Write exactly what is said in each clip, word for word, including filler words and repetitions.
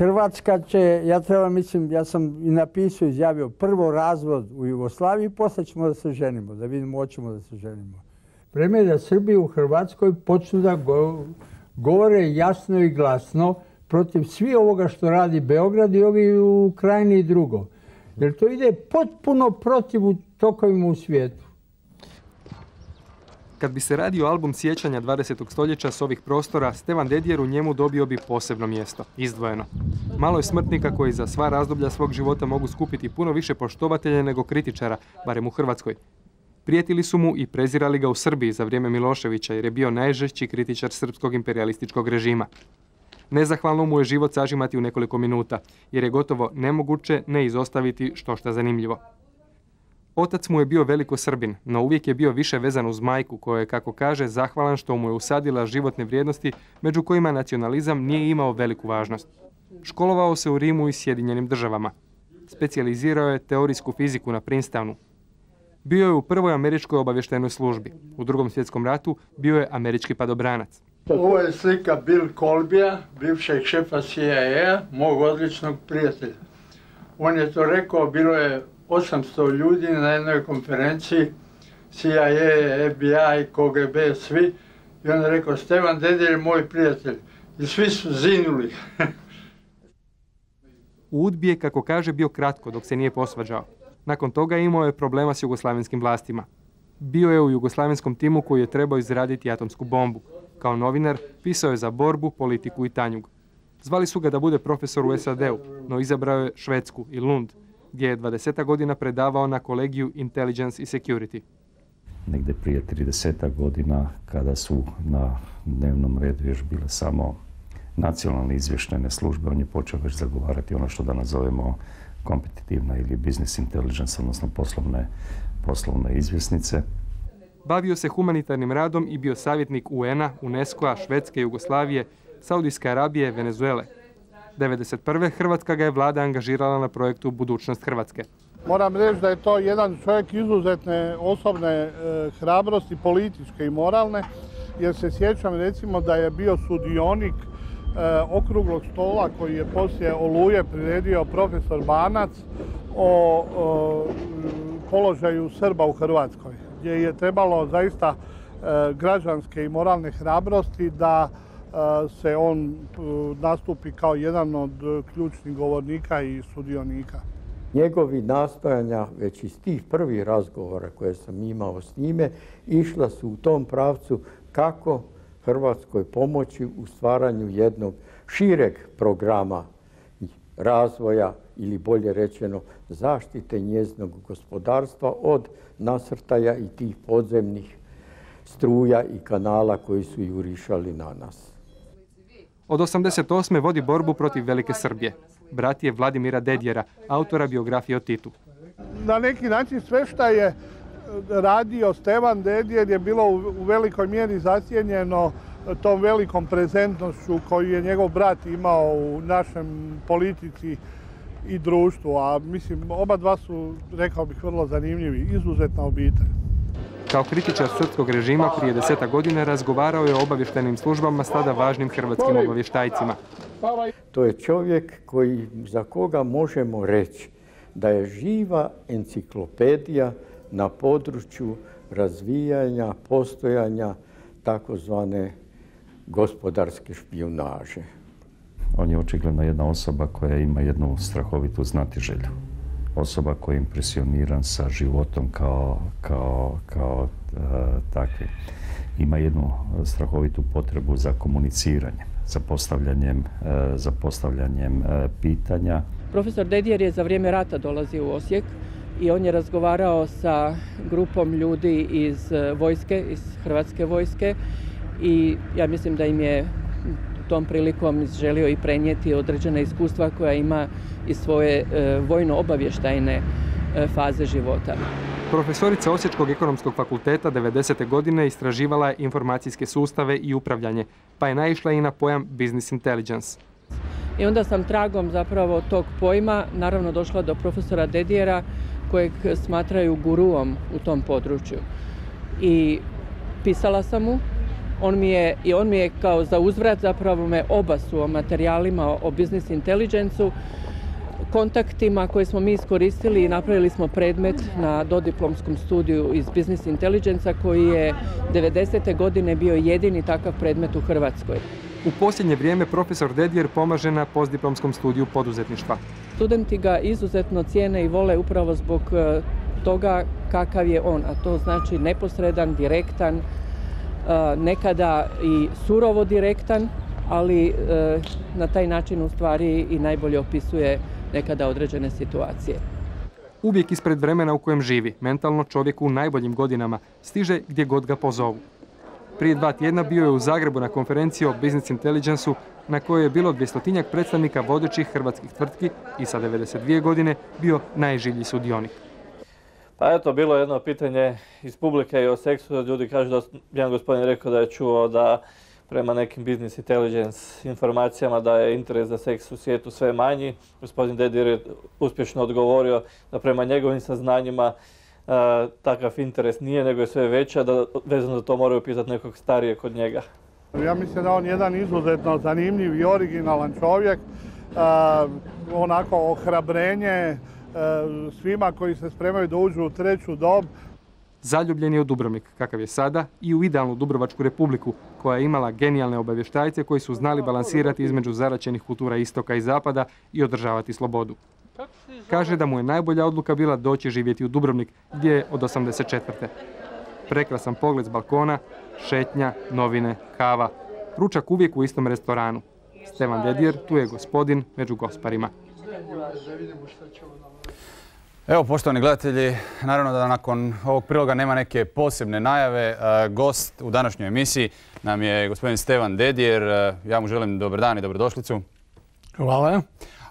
Hrvatska će, ja treba mislim, ja sam i napisao, izjavio, prvo razvod u Jugoslaviji, posle ćemo da se ženimo, da vidimo, hoćemo da se ženimo. Vreme je da Srbi u Hrvatskoj počnu da go, govore jasno i glasno protiv svi ovoga što radi Beograd i ovi u Krajini i drugo. Jer to ide potpuno protiv tokovima u svijetu. Kad bi se radio album sjećanja dvadesetog stoljeća s ovih prostora, Stevan Dedijer u njemu dobio bi posebno mjesto, izdvojeno. Malo je smrtnika koji za sva razdoblja svog života mogu skupiti puno više poštovatelja nego kritičara, barem u Hrvatskoj. Prijetili su mu i prezirali ga u Srbiji za vrijeme Miloševića jer je bio najžešći kritičar srpskog imperijalističkog režima. Nezahvalno mu je život sažimati u nekoliko minuta, jer je gotovo nemoguće ne izostaviti štošta zanimljivo. Otac mu je bio veliko Srbin, no uvijek je bio više vezan uz majku, koja je, kako kaže, zahvalan što mu je usadila životne vrijednosti, među kojima nacionalizam nije imao veliku važnost. Školovao se u Rimu i Sjedinjenim državama. Specijalizirao je teorijsku fiziku na Princetonu. Bio je u prvoj američkoj obavještajnoj službi. U Drugom svjetskom ratu bio je američki padobranac. Ovo je slika Bill Colbya, bivšeg šefa C I A, mog odličnog prijatelja. On je to rekao, bilo je osamsto ljudi na jednoj konferenciji, C I A, F B I, K G B, svi. I on je rekao, Stevan Dedijer je moj prijatelj. I svi su zinuli. U UDBI je, kako kaže, bio kratko dok se nije posvađao. Nakon toga imao je problema s jugoslavenskim vlastima. Bio je u jugoslavenskom timu koji je trebao izraditi atomsku bombu. Kao novinar pisao je za Borbu, Politiku i Tanjug. Zvali su ga da bude profesor u S A D-u, no izabrao je Švedsku i Lund, gdje je dvadeset godina predavao na kolegiju Intelligence i Security. Negdje prije trideset godina, kada su na dnevnom redu još bile samo nacionalne izvještajne službe, on je počeo već zagovarati ono što danas zovemo kompetitivna ili business intelligence, odnosno poslovne, poslovne izvjesnice. Bavio se humanitarnim radom i bio savjetnik U N-a, UNESCO-a, Švedske, Jugoslavije, Saudijske Arabije, Venezuele. devedeset prve Hrvatska ga je vlada angažirala na projektu Budućnost Hrvatske. Moram reći da je to jedan čovjek izuzetne osobne e, hrabrosti, političke i moralne, jer se sjećam recimo da je bio sudionik e, okruglog stola koji je poslije Oluje priredio profesor Banac o, o položaju Srba u Hrvatskoj, gdje je trebalo zaista e, građanske i moralne hrabrosti da se on nastupi kao jedan od ključnih govornika i sudionika. Njegovi nastojanja, već iz tih prvih razgovora koje sam imao s njime, išla su u tom pravcu kako Hrvatskoj pomoći u stvaranju jednog šireg programa razvoja ili bolje rečeno zaštite njezinog gospodarstva od nasrtaja i tih podzemnih struja i kanala koji su jurišali na nas. Od osamdeset osme vodi borbu protiv Velike Srbije. Brat je Vladimira Dedijera, autora biografije o Titu. Na neki način sve što je radio Stevan Dedijer je bilo u velikoj mjeri zasjenjeno tom velikom prezentnošću koju je njegov brat imao u našem politici i društvu. A mislim, oba dva su, rekao bih, vrlo zanimljivi, izuzetna obitelj. Kao kritičar srpskog režima prije deseta godina razgovarao je o obavještajnim službama s tada važnim hrvatskim obavještajcima. To je čovjek koji, za koga možemo reći da je živa enciklopedija na području razvijanja, postojanja takozvane gospodarske špijunaže. On je očigledno jedna osoba koja ima jednu strahovitu znatiželju. Osoba koja je impresioniran sa životom kao, kao, kao e, takvi. Ima jednu strahovitu potrebu za komuniciranjem, za postavljanjem, e, za postavljanjem e, pitanja. Profesor Dedijer je za vrijeme rata dolazio u Osijek i on je razgovarao sa grupom ljudi iz vojske, iz Hrvatske vojske i ja mislim da im je tom prilikom želio i prenijeti određena iskustva koja ima iz svoje e, vojno-obavještajne e, faze života. Profesorica Osječkog ekonomskog fakulteta devedesete godine istraživala je informacijske sustave i upravljanje, pa je naišla i na pojam business intelligence. I onda sam tragom zapravo tog pojma naravno došla do profesora Dedijera, kojeg smatraju guruom u tom području. I pisala sam mu On mi je, i on mi je kao za uzvrat zapravo me obasuo materijalima o business intelligence-u, kontaktima koje smo mi iskoristili i napravili smo predmet na dodiplomskom studiju iz business intelligence-a koji je devedesete godine bio jedini takav predmet u Hrvatskoj. U posljednje vrijeme profesor Dedijer pomaže na postdiplomskom studiju poduzetništva. Studenti ga izuzetno cijene i vole upravo zbog toga kakav je on, a to znači neposredan, direktan, nekada i surovo direktan, ali na taj način u stvari i najbolje opisuje nekada određene situacije. Uvijek ispred vremena u kojem živi, mentalno čovjek u najboljim godinama stiže gdje god ga pozovu. Prije dva tjedna bio je u Zagrebu na konferenciji o Business Intelligence-u na kojoj je bilo dvjestotinjak predstavnika vodećih hrvatskih tvrtki i sa devedeset dvije godine bio najživlji sudionik. Pa eto, bilo je jedno pitanje iz publike i o seksu. Ljudi kažu da jedan gospodin rekao da je čuo da prema nekim business intelligence informacijama da je interes za seks u svijetu sve manji. Gospodin Dedijer je uspješno odgovorio da prema njegovim saznanjima uh, takav interes nije, nego je sve veća, da vezano za to moraju pitati nekog starije kod njega. Ja mislim da on jedan izuzetno zanimljiv i originalan čovjek, uh, onako ohrabrenje uh, svima koji se spremaju da uđu u treću dob. Zaljubljen je u Dubrovnik, kakav je sada, i u idealnu Dubrovačku republiku, koja je imala genijalne obavještajce koji su znali balansirati između zaraćenih kultura istoka i zapada i održavati slobodu. Kaže da mu je najbolja odluka bila doći živjeti u Dubrovnik, gdje je od osamdeset četvrte. Prekrasan pogled s balkona, šetnja, novine, kava. Ručak uvijek u istom restoranu. Stevan Dedijer tu je gospodin među gosparima. Evo, poštovani gledatelji, naravno da nakon ovog priloga nema neke posebne najave. Gost u današnjoj emisiji nam je gospodin Stevan Dedijer. Ja mu želim dobar dan i dobrodošlicu. Hvala.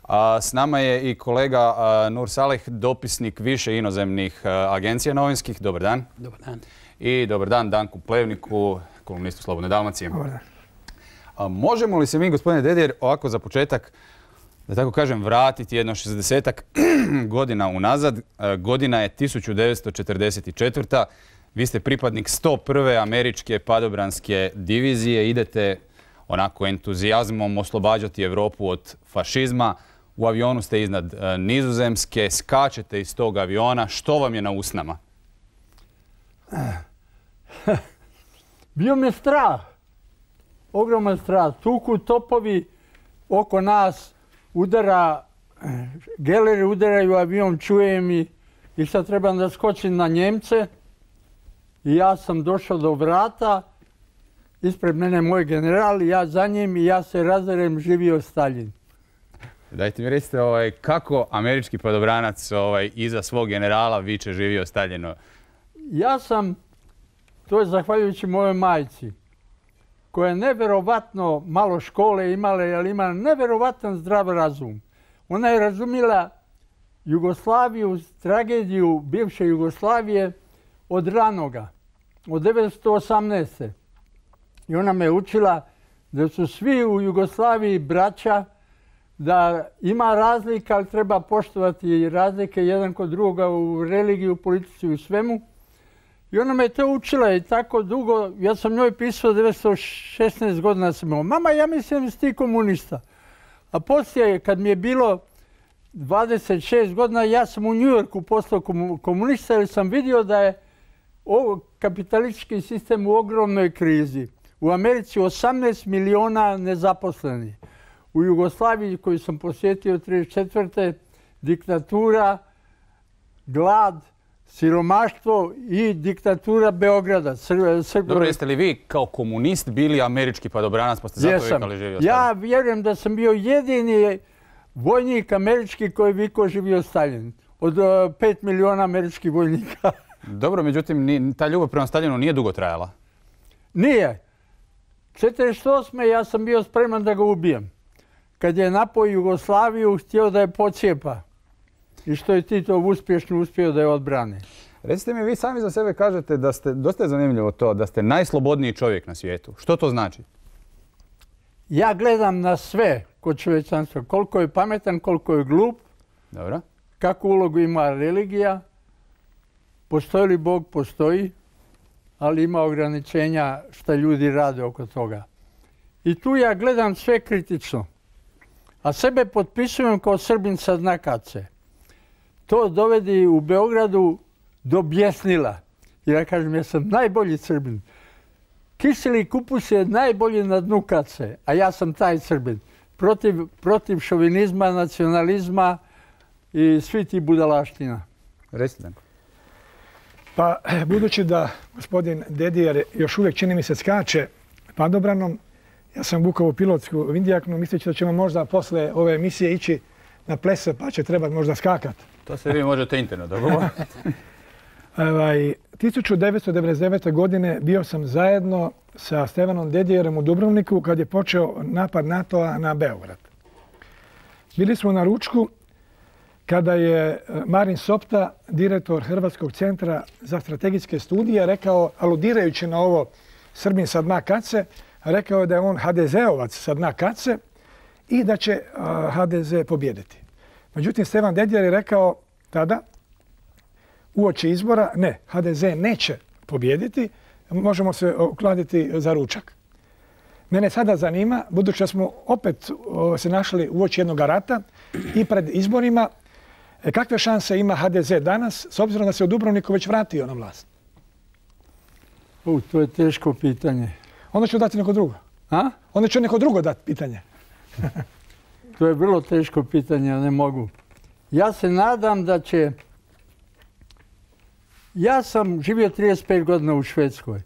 A s nama je i kolega Nur Saleh, dopisnik više inozemnih agencija novinskih. Dobar dan. Dobar dan. I dobar dan Danku Plevniku, kolumnistu Slobodne Dalmacije. Dobar dan. A možemo li se mi, gospodine Dedijer, ovako za početak, da tako kažem, vratiti jedno šezdesetak godina unazad? Godina je tisuću devetsto četrdeset četvrta. Vi ste pripadnik sto prve američke padobranske divizije. Idete onako entuzijazmom oslobađati Europu od fašizma. U avionu ste iznad Nizozemske, skačete iz tog aviona. Što vam je na usnama? Bio mi je strah. Ogroman strah. Tuku topovi oko nas, udara, geleri udaraju avion, čujem i, i sad trebam da skočim na Njemce. I ja sam došao do vrata, ispred mene moj general, ja za njim i ja se razderem, živio Staljin. Dajte mi recite ovaj, kako američki padobranac ovaj, iza svog generala viče živio Staljino? Ja sam, to je zahvaljujući mojoj majci, koja je neverovatno malo škole imala, ali ima neverovatan zdrav razum. Ona je razumjela Jugoslaviju, tragediju bivše Jugoslavije od ranoga, od devetsto osamnaeste. I ona me učila da su svi u Jugoslaviji braća, da ima razlika, ali treba poštovati razlike jedan kod druga u religiju, politici i u svemu. I ona me to učila i tako dugo, ja sam njoj pisao devetsto šesnaest godina sam imao. Mama, ja mislim da si ti komunista. A poslije, kad mi je bilo dvadeset šest godina, ja sam u New Yorku postao komunista jer sam vidio da je ovo kapitalistički sistem u ogromnoj krizi. U Americi osamnaest miliona nezaposlenih. U Jugoslaviji, koju sam posjetio trideset četvrte diktatura, glad, siromaštvo i diktatura Beograda. Dobro, jeste li vi kao komunist bili američki padobranac, pa ste zato vikali živio Staljin? Ja vjerujem da sam bio jedini vojnik američki koji vikao živio Staljin. Od pet miliona američkih vojnika. Dobro, međutim, ta ljubav prema Staljinu nije dugo trajala. Nije. četrdeset osme ja sam bio spreman da ga ubijem. Kad je napao Jugoslaviju, htio da je pocijepa. I što je Tito uspješno uspio da je odbrane. Recite mi, vi sami za sebe kažete da ste, dosta je zanimljivo to, da ste najslobodniji čovjek na svijetu. Što to znači? Ja gledam na sve kod čovječanstva. Koliko je pametan, koliko je glup. Dobro. Kakvu ulogu ima religija. Postoji li Bog? Postoji. ali ima ograničenja šta ljudi rade oko toga. I tu ja gledam sve kritično. A sebe potpisujem kao Srbin sa dna kace. To dovedi u Beogradu do bjesnila. I ja kažem, ja sam najbolji Srbin. Kiseli kupus je najbolji na dnu kace, a ja sam taj Srbin. Protiv, protiv šovinizma, nacionalizma i svi ti budalaština. Recite. Pa, budući da gospodin Dedijer još uvijek, čini mi se, skače padobranom, ja sam vukao u pilotsku vindjaknu, misleći da ćemo možda posle ove emisije ići na plese, pa će trebati možda skakati. To se vi možete interno dogovoriti. tisuću devetsto devedeset devete. godine bio sam zajedno sa Stevanom Dedijerom u Dubrovniku kad je počeo napad NATO-a na Beograd. Bili smo na ručku kada je Marin Sopta, direktor Hrvatskog centra za strategijske studije, rekao, aludirajući na ovo Srbin sa dna kace, rekao je da je on ha de zeovac sa dna kace i da će ha de ze pobijediti. Međutim, Stevan Dedijer je rekao tada, uoči izbora, ne, ha de ze neće pobijediti, možemo se okladiti za ručak. Mene sada zanima, budući da smo opet se našli uoči jednog rata i pred izborima, kakve šanse ima ha de ze danas, s obzirom da se u Dubrovniku već vratio na vlast? U, to je teško pitanje. Onda ću dati neko drugo. A? Onda ću neko drugo dati pitanje. To je vrlo teško pitanje, a ne mogu. Ja se nadam da će... Ja sam živio trideset pet godina u Švedskoj.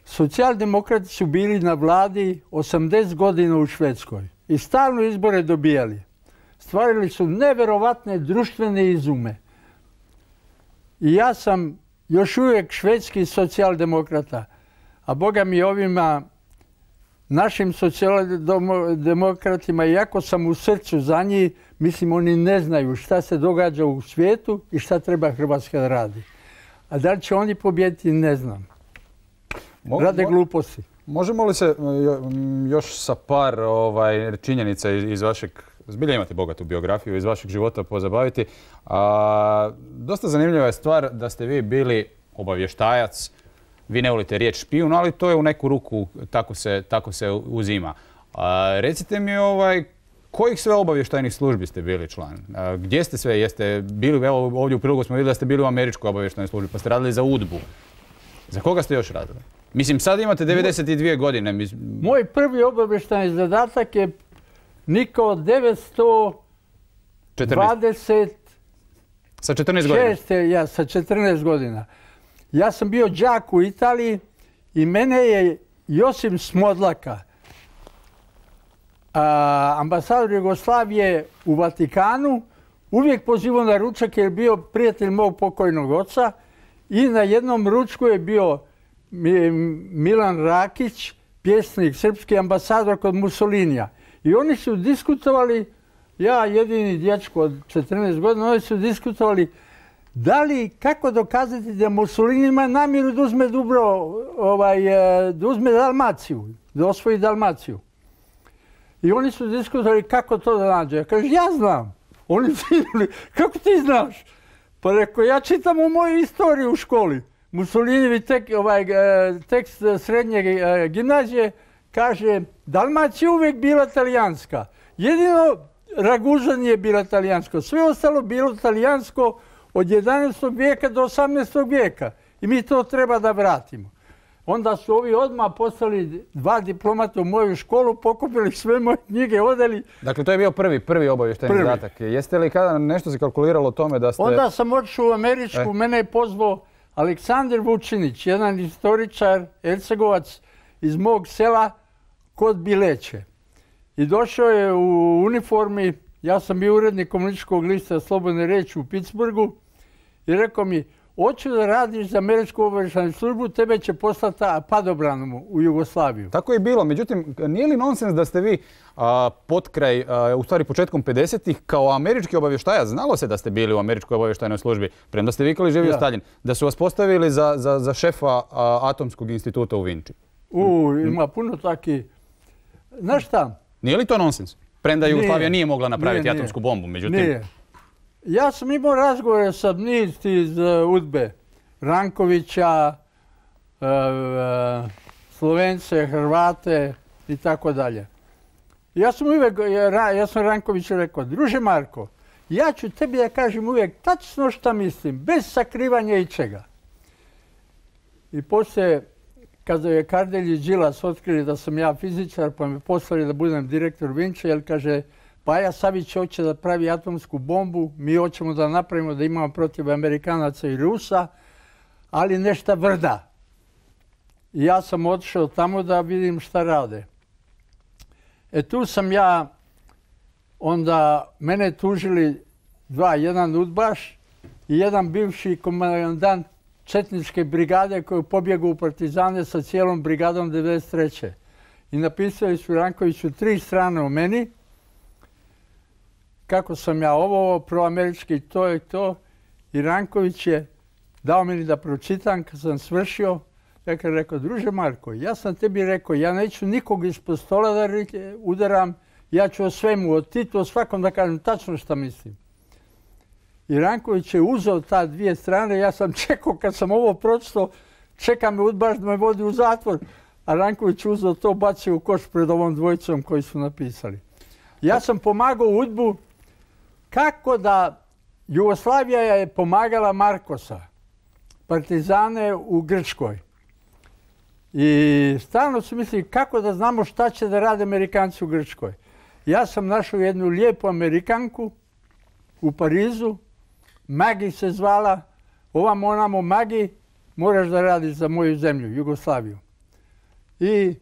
Socijaldemokrati su bili na vladi osamdeset godina u Švedskoj i stalno izbore dobijali. Stvarili su neverovatne društvene izume. I ja sam još uvijek švedski socijaldemokrata, a boga mi ovima našim socijaldemokratima, iako sam u srcu za njih, mislim oni ne znaju šta se događa u svijetu i šta treba Hrvatska da radi. A da li će oni pobijediti, ne znam. Rade gluposti. Možemo li se još sa par ovaj, činjenica iz vašeg, zbilja imate bogatu biografiju, iz vašeg života pozabaviti. A, dosta zanimljiva je stvar da ste vi bili obavještajac. Vi ne volite riječ špijun, ali to je u neku ruku, tako se, tako se uzima. A, recite mi ovaj, kojih sve obavještajnih službi ste bili član? A, gdje ste sve? Jeste bili, evo ovdje u prilogu smo vidjeli da ste bili u američkoj obavještajnoj službi, pa ste radili za U D B U. Za koga ste još radili? Mislim, sad imate devedeset dvije godine. Mislim... Moj prvi obavještajni zadatak je Niko devetsto dvadeset Sa četrnaest godina? Ja, sa četrnaest godina. Ja sam bio đak u Italiji i mene je Josip Smodlaka, a, ambasador Jugoslavije u Vatikanu, uvijek pozivao na ručak jer je bio prijatelj mog pokojnog oca i na jednom ručku je bio Milan Rakić, pjesnik, srpski ambasador kod Mussolinija. I oni su diskutovali, ja jedini dječko od četrnaest godina, oni su diskutovali da li, kako dokazati da Mussolini ima namjeru da uzme Dubro, ovaj, da uzme Dalmaciju, da osvoji Dalmaciju. I oni su diskutovali kako to da nađe. Ja kažem, ja znam. Oni su vidjeli, kako ti znaš? Pa rekao, ja čitam u moju istoriju u školi. Mussolinijevi tek, ovaj, tekst srednje gimnazije kaže Dalmacija uvijek bila talijanska. Jedino Ragužan je bila talijansko. Sve ostalo bilo talijansko od jedanaestog vijeka do osamnaestog vijeka. I mi to treba da vratimo. Onda su ovi odmah poslali dva diplomata u moju školu, pokupili sve moje knjige, odeli. Dakle, to je bio prvi, prvi obavještajni zadatak. Jeste li kada nešto se kalkuliralo o tome da ste... Onda sam otišao u Američku, e. mene je pozvao Aleksandar Vučinić, jedan istoričar, Ercegovac iz mog sela kod Bileće. I došao je u uniformi, ja sam bio urednik komunističkog lista Slobodne riječi u Pittsburghu i rekao mi, hoću da radiš za američku obavještajnu službu, tebe će poslati padobranom u Jugoslaviju. Tako je bilo. Međutim, nije li nonsens da ste vi a, potkraj, a, u stvari početkom pedesetih kao američki obavještajac, znalo se da ste bili u američkoj obavještajnoj službi, premda ste vikali živio ja. Staljin, da su vas postavili za, za, za šefa a, Atomskog instituta u Vinči? U, ima puno takih. Znaš šta? Nije li to nonsens? Premda Jugoslavija nije mogla napraviti nije, atomsku bombu, međutim... Nije. Ja sam imao razgovore sa niz iz U D B E, Rankovića, Slovence, Hrvate i tako dalje. Ja sam uvijek, ja sam Rankoviću rekao, druže Marko, ja ću tebi da kažem uvijek tačno šta mislim, bez sakrivanja ičega. I poslije, kada je Kardelj i Đilas otkrili da sam ja fizičar, pa me poslali da budem direktor Vinče, jer kaže, Paja Savić hoće da pravi atomsku bombu, mi hoćemo da napravimo da imamo protiv Amerikanaca i Rusa, ali nešto vrda. I ja sam otišao tamo da vidim šta rade. E tu sam ja, onda mene tužili dva, jedan udbaš i jedan bivši komandant četničke brigade koji je pobjegao u partizane sa cijelom brigadom devedeset treće. I napisali su Rankoviću tri strane o meni, kako sam ja ovo, proamerički to i to. I Ranković je dao meni da pročitam kad sam svršio. Ja kad rekao, druže Marko, ja sam tebi rekao, ja neću nikog ispod stola da udaram, ja ću o svemu, o Titu, o svakom da kažem tačno šta mislim. I Ranković je uzeo ta dvije strane, ja sam čekao kad sam ovo pročitao, čeka me udbaš da me vodi u zatvor, a Ranković uzeo to, bacio u koš pred ovom dvojicom koji su napisali. Ja sam pomagao udbu kako da Jugoslavija je pomagala Markosa, partizane u Grčkoj. I stalno su mislili kako da znamo šta će da rade Amerikanci u Grčkoj. Ja sam našao jednu lijepu Amerikanku u Parizu, Magi se zvala, ovam onamo Magi, moraš da radiš za moju zemlju, Jugoslaviju. I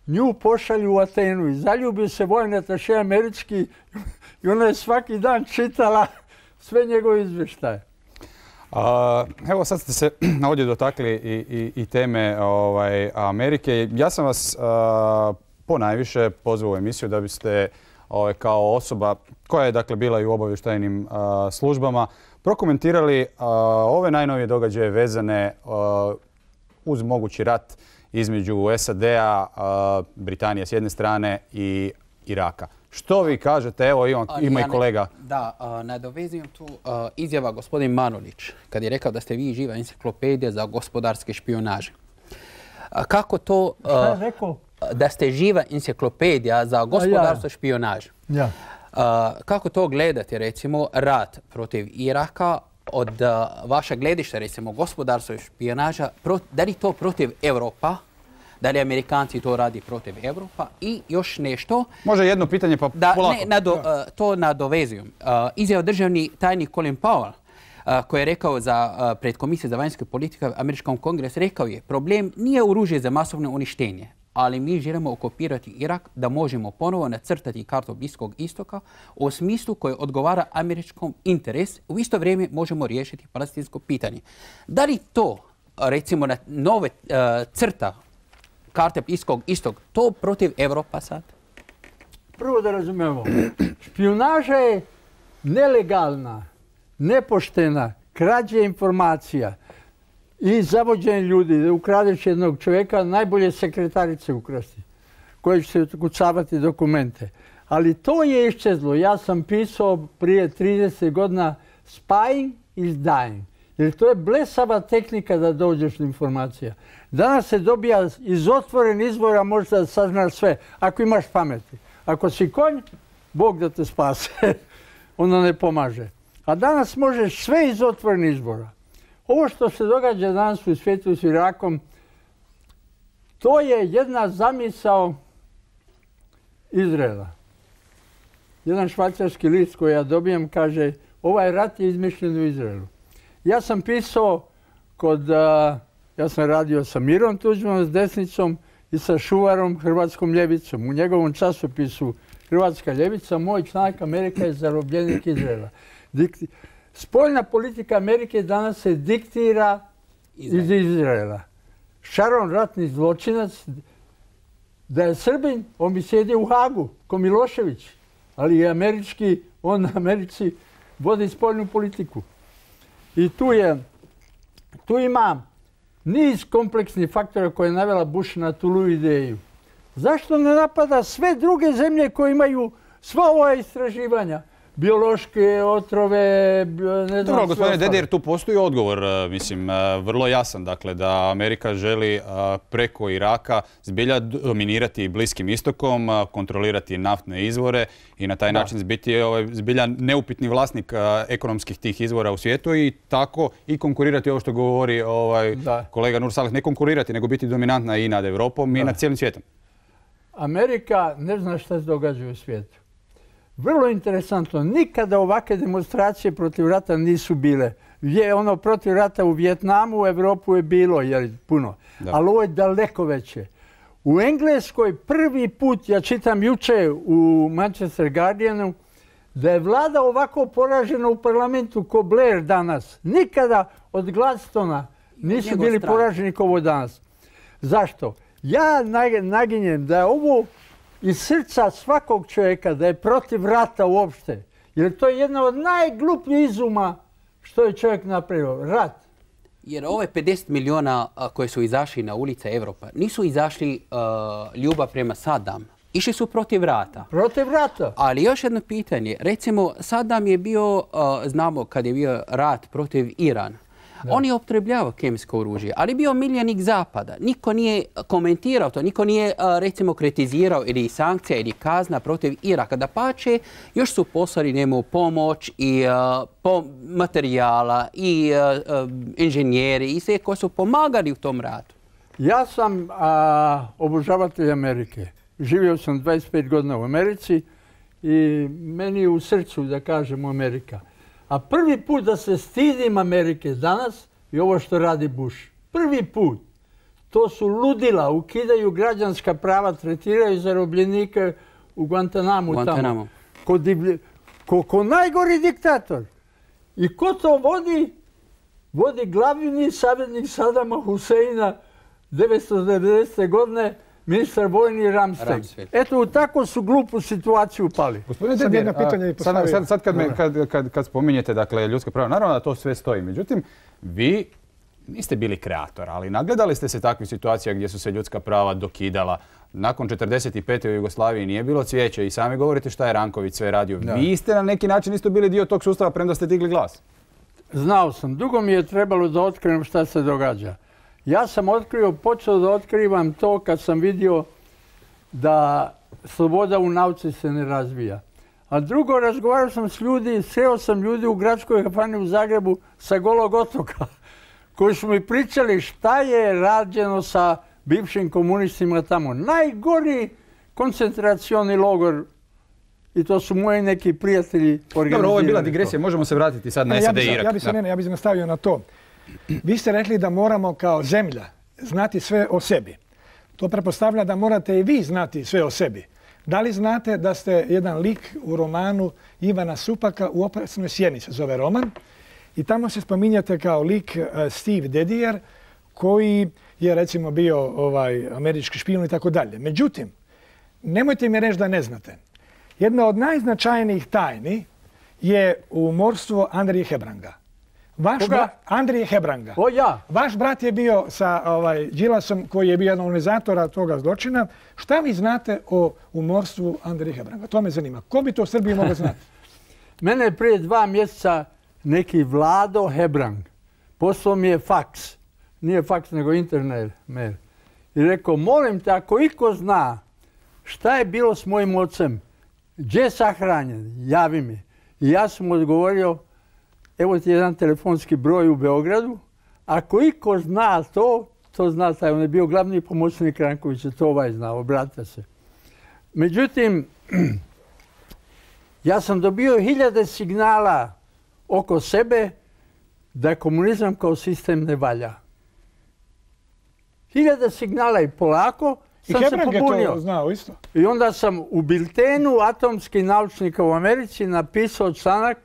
nju pošalju u Atenu i zaljubio se vojni ataše američki i ona je svaki dan čitala sve njegove izvještaje. A, evo sad ste se ovdje dotakli i, i, i teme ovaj, Amerike. Ja sam vas a, ponajviše pozvao u emisiju da biste ovaj, kao osoba koja je dakle bila i u obavještajnim a, službama prokomentirali a, ove najnovije događaje vezane a, uz mogući rat između S A D-a, Britanije s jedne strane i Iraka. Što vi kažete? Evo ima, ima i kolega. Da, nadovezujem tu izjava gospodin Manolić kad je rekao da ste vi živa enciklopedija za gospodarske špijunaže. Kako to da ste živa enciklopedija za gospodarstvo špijunaže? Ja. Kako to gledate, recimo, rat protiv Iraka od vaša gledišta, recimo, gospodarstvo špijunaža, da li to protiv Evropa? Da li Amerikanci to radi protiv Evropa? I još nešto... Može jedno pitanje pa da, polako. Ne, nado, uh, to nadovezujem. Uh, izjava državni tajnik Colin Powell, uh, koji je rekao za, uh, pred Komisije za vanjsku politiku Američkom kongresu, rekao je problem nije oružje za masovno uništenje, ali mi želimo okupirati Irak da možemo ponovo nacrtati kartu Bliskog istoka u smislu koji odgovara američkom interesu. U isto vrijeme možemo riješiti palestinsko pitanje. Da li to, recimo, na nove uh, crta karte Bliskog istog, to protiv Evropa sad? Prvo da razumemo, špijunaža je nelegalna, nepoštena, krađe informacija i zavođenje ljudi. Da ukradeš jednog čovjeka, najbolje sekretarice ukrasti, koje će se ukucavati dokumente. Ali to je iščezlo. Ja sam pisao prije trideset godina spying is dying. Jer to je blesava tehnika da dođeš do informacija. Danas se dobija iz otvorenih izvora, možda da saznaš sve, ako imaš pameti. Ako si konj, Bog da te spase, onda ne pomaže. A danas možeš sve iz otvorenih izvora. Ovo što se događa danas u svijetu s Irakom, to je jedna zamisao Izraela. Jedan švajcarski list koji ja dobijem kaže, ovaj rat je izmišljen u Izraelu. Ja sam pisao kod, a, ja sam radio sa Mirom Tuđmanom s desnicom i sa Šuvarom, Hrvatskom ljevicom. U njegovom časopisu Hrvatska ljevica, moj članak Amerika je zarobljenik Izraela. Dikti... Spoljna politika Amerike danas se diktira Izrael. iz Izraela. Sharon, ratni zločinac, da je Srbin, on bi sjedio u Hagu, ko Milošević, ali je američki, on na Americi vodi spoljnu politiku. I tu je, tu ima niz kompleksnih faktora koje je navela Bush na tu ideju. Zašto ne napada sve druge zemlje koje imaju sva ova istraživanja? biološke otrove, ne znam. Dobro, gospodine Dedijer, tu postoji odgovor, mislim, vrlo jasan, dakle, da Amerika želi preko Iraka zbilja dominirati Bliskim istokom, kontrolirati naftne izvore i na taj da. način biti ovaj, zbilja neupitni vlasnik ekonomskih tih izvora u svijetu i tako i konkurirati ovo što govori ovaj, kolega Nur Saleh, ne konkurirati, nego biti dominantna i nad Europom da. i nad cijelim svijetom. Amerika ne zna šta se događa u svijetu. Vrlo interesantno, nikada ovakve demonstracije protiv rata nisu bile. Je ono protiv rata u Vijetnamu, u Evropu je bilo jer puno, da. ali ovo je daleko veće. U Engleskoj prvi put, ja čitam juče u Manchester Guardianu, da je vlada ovako poražena u parlamentu ko Blair danas. Nikada od Gladstona nisu bili poraženi kao ovo danas. Zašto? Ja naginjem da je ovo iz srca svakog čovjeka, da je protiv rata uopšte. Jer to je jedna od najglupljih izuma što je čovjek napravio. Rat. Jer ove pedeset miliona koje su izašli na ulice Evropa nisu izašli uh, ljubav prema Saddam. Išli su protiv rata. Protiv rata. Ali još jedno pitanje. Recimo, Saddam je bio, uh, znamo kad je bio rat protiv Irana. Da. On je upotrebljavao kemijsko oružje, ali bio miljenik Zapada. Niko nije komentirao to, niko nije recimo kritizirao ili sankcija ili kazna protiv Iraka. Dapače, još su poslali njemu pomoć i uh, po materijala i uh, inženjeri i sve koji su pomagali u tom ratu. Ja sam uh, obožavatelj Amerike. Živio sam dvadeset pet godina u Americi i meni je u srcu da kažem Amerika. A prvi put da se stidim Amerike danas je ovo što radi Bush. Prvi put. To su ludila, ukidaju građanska prava, tretiraju zarobljenike u Guantanamu. Guantanamo. Ko, divlje, ko, ko najgori diktator. I ko to vodi? Vodi glavni savjetnik Sadama Huseina devetsto devedesete. godine, ministar vojni Ramsfeld. Eto, u takvu su glupu situaciju upali. Gospodine Dedijer, sad, sad, sad kad, me, kad, kad, kad spominjete dakle, ljudska prava, naravno da to sve stoji. Međutim, vi niste bili kreator, ali nagledali ste se takvih situacija gdje su se ljudska prava dokidala. Nakon četrdeset pete u Jugoslaviji nije bilo cvijeće i sami govorite šta je Ranković sve radio. Da. Vi ste na neki način isto bili dio tog sustava premda ste digli glas. Znao sam. Dugo mi je trebalo da otkrijem šta se događa. Ja sam otkrio, počeo da otkrivam to kad sam vidio da sloboda u nauci se ne razvija. A drugo, razgovarao sam s ljudi, sreo sam ljudi u gradskoj kafani u Zagrebu sa Golog otoka, koji su mi pričali šta je rađeno sa bivšim komunistima tamo. Najgori koncentracioni logor, i to su moji neki prijatelji organizirali. Dobro, ovo je bila digresija, možemo se vratiti sad na S A D i Irak. Ja bi se, ne, ja bi se nastavio na to. Vi ste rekli da moramo kao zemlja znati sve o sebi. To pretpostavlja da morate i vi znati sve o sebi. Da li znate da ste jedan lik u romanu Ivana Supaka U opasnoj sjeni se zove roman i tamo se spominjete kao lik Steve Dedijer koji je recimo bio ovaj, američki špijun i tako dalje. Međutim, nemojte mi reći da ne znate. Jedna od najznačajnijih tajni je umorstvo Andrije Hebranga. Vaš brat, Andrije Hebranga. O ja. Vaš brat je bio sa ovaj, Đilasom koji je bio jedan organizatora toga zločina. Šta vi znate o umorstvu Andrije Hebranga? To me zanima. Ko bi to u Srbiji mogao znati? Mene je prije dva mjeseca neki Vlado Hebrang poslao mi je faks. Nije faks nego internet mail. I rekao, molim te, ako iko zna šta je bilo s mojim ocem, gdje je sahranjen, javi mi. I ja sam mu odgovorio, evo ti jedan telefonski broj u Beogradu. Ako iko zna to, to zna taj. On je bio glavni pomoćnik Rankovića, to ovaj zna, obratite se. Međutim, ja sam dobio hiljade signala oko sebe da komunizam kao sistem ne valja. Hiljade signala i polako sam se pobunio. I Hebrang je to znao isto. I onda sam u biltenu atomskih naučnika u Americi napisao članak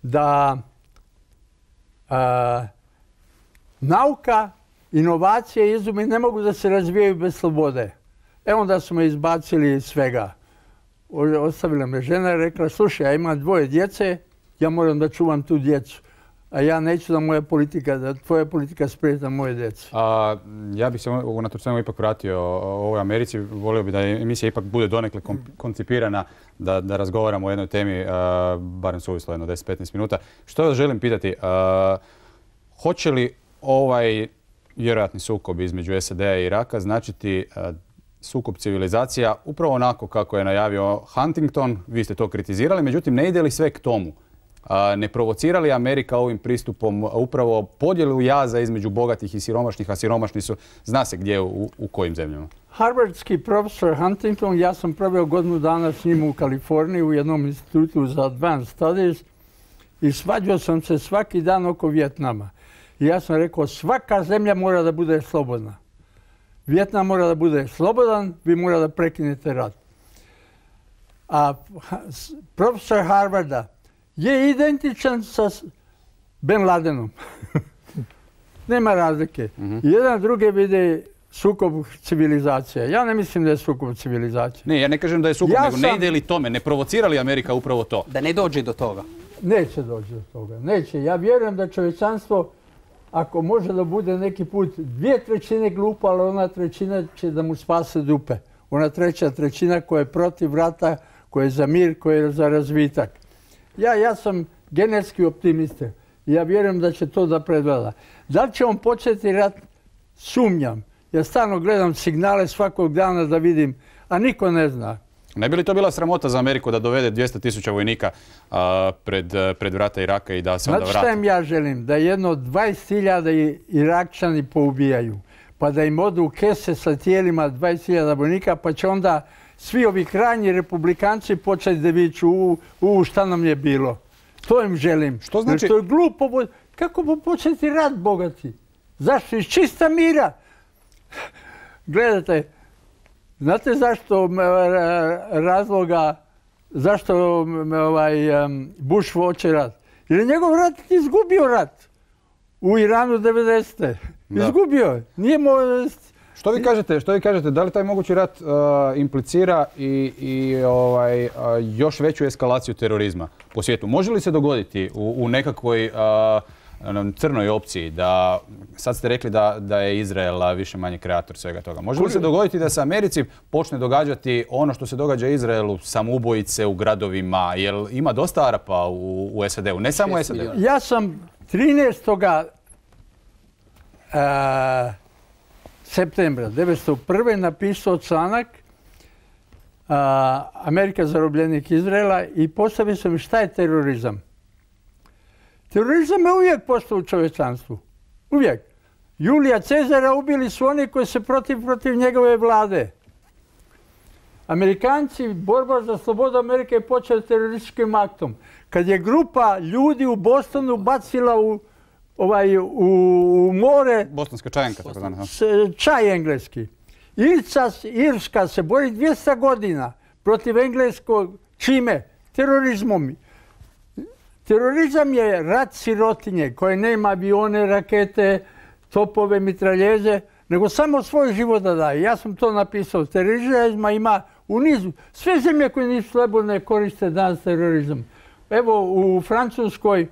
da a, nauka, inovacije i izumi ne mogu da se razvijaju bez slobode. E onda su me izbacili iz svega. Ostavila me žena i rekla, slušaj, ja imam dvoje djece, ja moram da čuvam tu djecu. a ja neću da moja politika, da tvoja politika spreta moje djece. A, ja bih se unatoč svemu ipak vratio o ovoj Americi. Volio bih da emisija ipak bude donekle koncipirana, da, da razgovaramo o jednoj temi, a, barem suvislo jedno deset do petnaest minuta. Što vas želim pitati, a, hoće li ovaj vjerojatni sukob između S A D-a i Iraka značiti a, sukob civilizacija upravo onako kako je najavio Huntington, vi ste to kritizirali, međutim ne ide li sve k tomu? Ne provocira li Amerika ovim pristupom upravo podjelu jaza između bogatih i siromašnih, a siromašni su, zna se gdje, u, u kojim zemljama? Harvardski profesor Huntington, ja sam proveo godinu dana s njim u Kaliforniji u jednom institutu za Advanced Studies i svađao sam se svaki dan oko Vijetnama. I ja sam rekao, svaka zemlja mora da bude slobodna. Vijetnam mora da bude slobodan, vi mora da prekinete rat. A profesor Harvarda je identičan sa Ben Ladenom. Nema razlike. Mm-hmm. Jedan druge vide sukob civilizacija. Ja ne mislim da je sukob civilizacija. Ne, ja ne kažem da je sukob, ja nego sam... ne ide li tome, ne provocira li Amerika upravo to? Da ne dođe do toga. Neće doći do toga. Neće. Ja vjerujem da čovječanstvo, ako može da bude neki put dvije trećine glupa, ali ona trećina će da mu spase dupe. Ona treća trećina koja je protiv rata, koja je za mir, koja je za razvitak. Ja, ja sam genetski optimista. Ja vjerujem da će to da predvlada. Da li će on početi rat? Sumnjam. Ja stalno gledam signale svakog dana da vidim, a niko ne zna. Ne bi li to bila sramota za Ameriku da dovede dvjesto tisuća vojnika a, pred, pred vrata Iraka i da se onda vrati? Znate šta im ja želim? Da jedno dvadeset hiljada Irakčani poubijaju. Pa da im odu u kese sa tijelima dvadeset hiljada vojnika, pa će onda svi ovi krajnji republikanci početi da viču u, u šta nam je bilo. To im želim. Što znači? Jer to je glupo. Kako početi rat, bogati? Zašto? Iz čista mira. Gledajte, znate zašto razloga, zašto ovaj, Bush hoće rat? Jer je njegov rat izgubio rat. U Iranu devedesete. Izgubio. Nije mo... Što vi kažete, što vi kažete, da li taj mogući rat uh, implicira i, i ovaj, uh, još veću eskalaciju terorizma po svijetu? Može li se dogoditi u, u nekakvoj uh, crnoj opciji da, sad ste rekli da, da je Izrael više manje kreator svega toga, može li se dogoditi da se Americi počne događati ono što se događa Izraelu, samoubojice u gradovima, jer ima dosta Arapa u, u S A D-u, ne samo u S A D-u? Ja sam trinaestog Uh, septembra devetsto prve napisao članak uh, Amerika zarobljenik Izraela i postavio sam šta je terorizam. Terorizam je uvijek postao u čovječanstvu. Uvijek. Julija Cezara ubili su oni koji se protiv, protiv njegove vlade. Amerikanci, borba za slobodu Amerike je počela terorističkim aktom. Kad je grupa ljudi u Bostonu bacila u Ovaj, u, u more... Bostonska čajenka, tako dana. Čaj engleski. Irca, Irska se bori dvjesto godina protiv engleskog čime? Terorizmom. Terorizam je rat sirotinje koje nema avione, rakete, topove, mitraljeze, nego samo svoj život da daje. Ja sam to napisao. Terorizma ima u nizu. Sve zemlje koje nisu slobodne koriste danas terorizam. Evo u Francuskoj,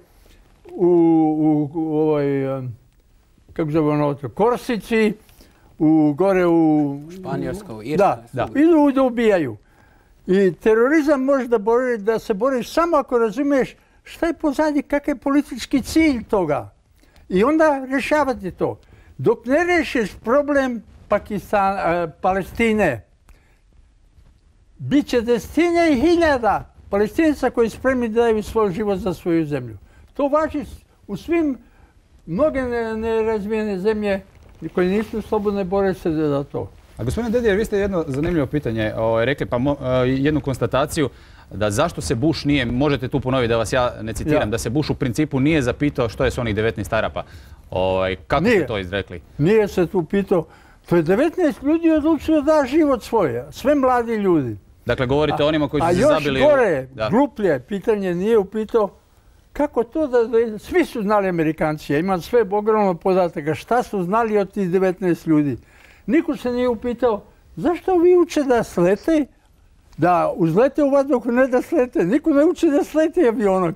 u, u, u ovoj, kako zove ono, Korsici, u, gore u... Španjolskoj, Irskoj. Da, da. Idu da ubijaju. I terorizam može da, bori, da se boriš samo ako razumiješ šta je pozadnji, kakav je politički cilj toga. I onda rješavati to. Dok ne rešiš problem Pakistan, uh, Palestine, bit će desetine i hiljada Palestinaca koji spremni da daju svoj život za svoju zemlju. To važi u svim mnoge nerazvijene zemlje koje nisu slobodne, bore se za to. A gospodine Dedijer, vi ste jedno zanimljivo pitanje o, rekli, pa mo, jednu konstataciju da zašto se Bush nije, možete tu ponoviti da vas ja ne citiram, ja. da se Bush u principu nije zapitao što je s onih devetnaest Arapa. O, kako nije. ste to izrekli? Nije se tu pitao. To je devetnaest ljudi odlučilo da život svoje, sve mladi ljudi. Dakle, govorite o onima koji su se zabili... A još gore, u... gluplje, pitanje nije upitao kako to da... Svi su znali Amerikanci, ja imam sve ogromno podataka, šta su znali od tih devetnaest ljudi. Niko se nije upitao zašto vi uče da slete, da uzlete u vazduhu, ne da slete. Niko ne uči da slete avionom.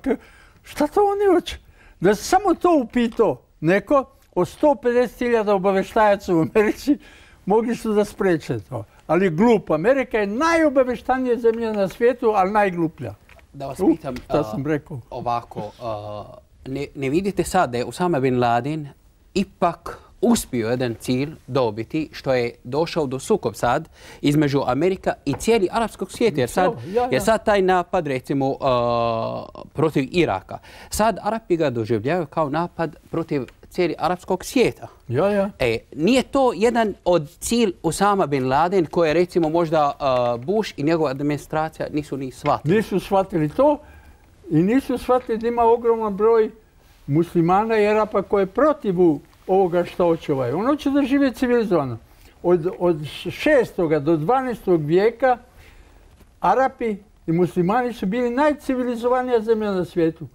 Šta to oni uče? Da se samo to upitao neko, od sto pedeset hiljada obaveštajaca u Americi mogli su da spreče to. Ali glup. Amerika je najobaveštanija zemlja na svijetu, ali najgluplja. Da vas pitam sam rekao. ovako, ne, ne vidite sad da je Osama bin Laden ipak uspio jedan cilj dobiti, što je došao do sukob sad između Amerika i cijeli arapskog svijeta. Jer sad, ja, ja. jer sad taj napad, recimo, uh, protiv Iraka, sad Arapi ga doživljavaju kao napad protiv cijeli arapskog svijeta. Ja, ja. E, nije to jedan od cilj Osama bin Laden koje recimo možda uh, Bush i njegova administracija nisu ni shvatili? Nisu shvatili to i nisu shvatili da ima ogroman broj muslimana i Arapa koje je protiv ovoga što hoće ovaj. On hoće da žive civilizovano. Od, od šestog do dvanaestog vijeka Arapi i muslimani su bili najcivilizovanija zemlja na svijetu.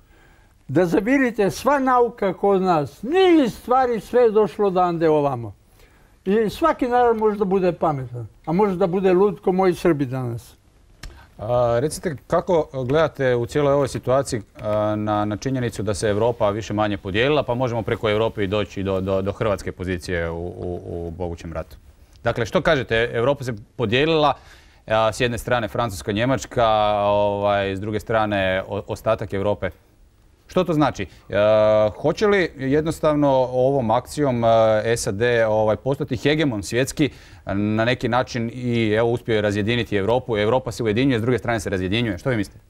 Da zavirite, sva nauka kod nas, niz stvari, sve je došlo odande ovamo. I svaki narod može da bude pametan, a može da bude lud ko moji Srbi danas. A, recite, kako gledate u cijeloj ovoj situaciji a, na, na činjenicu da se Europa više manje podijelila, pa možemo preko Europe i doći do, do, do hrvatske pozicije u, u, u mogućem ratu? Dakle, što kažete, Europa se podijelila, a, s jedne strane Francuska, Njemačka, ovaj, s druge strane o, ostatak Europe. Što to znači? E, hoće li jednostavno ovom akcijom S A D ovaj, postati hegemon svjetski, na neki način i evo uspio je razjediniti Europu, Europa se ujedinjuje, s druge strane se razjedinjuje. Što vi mislite?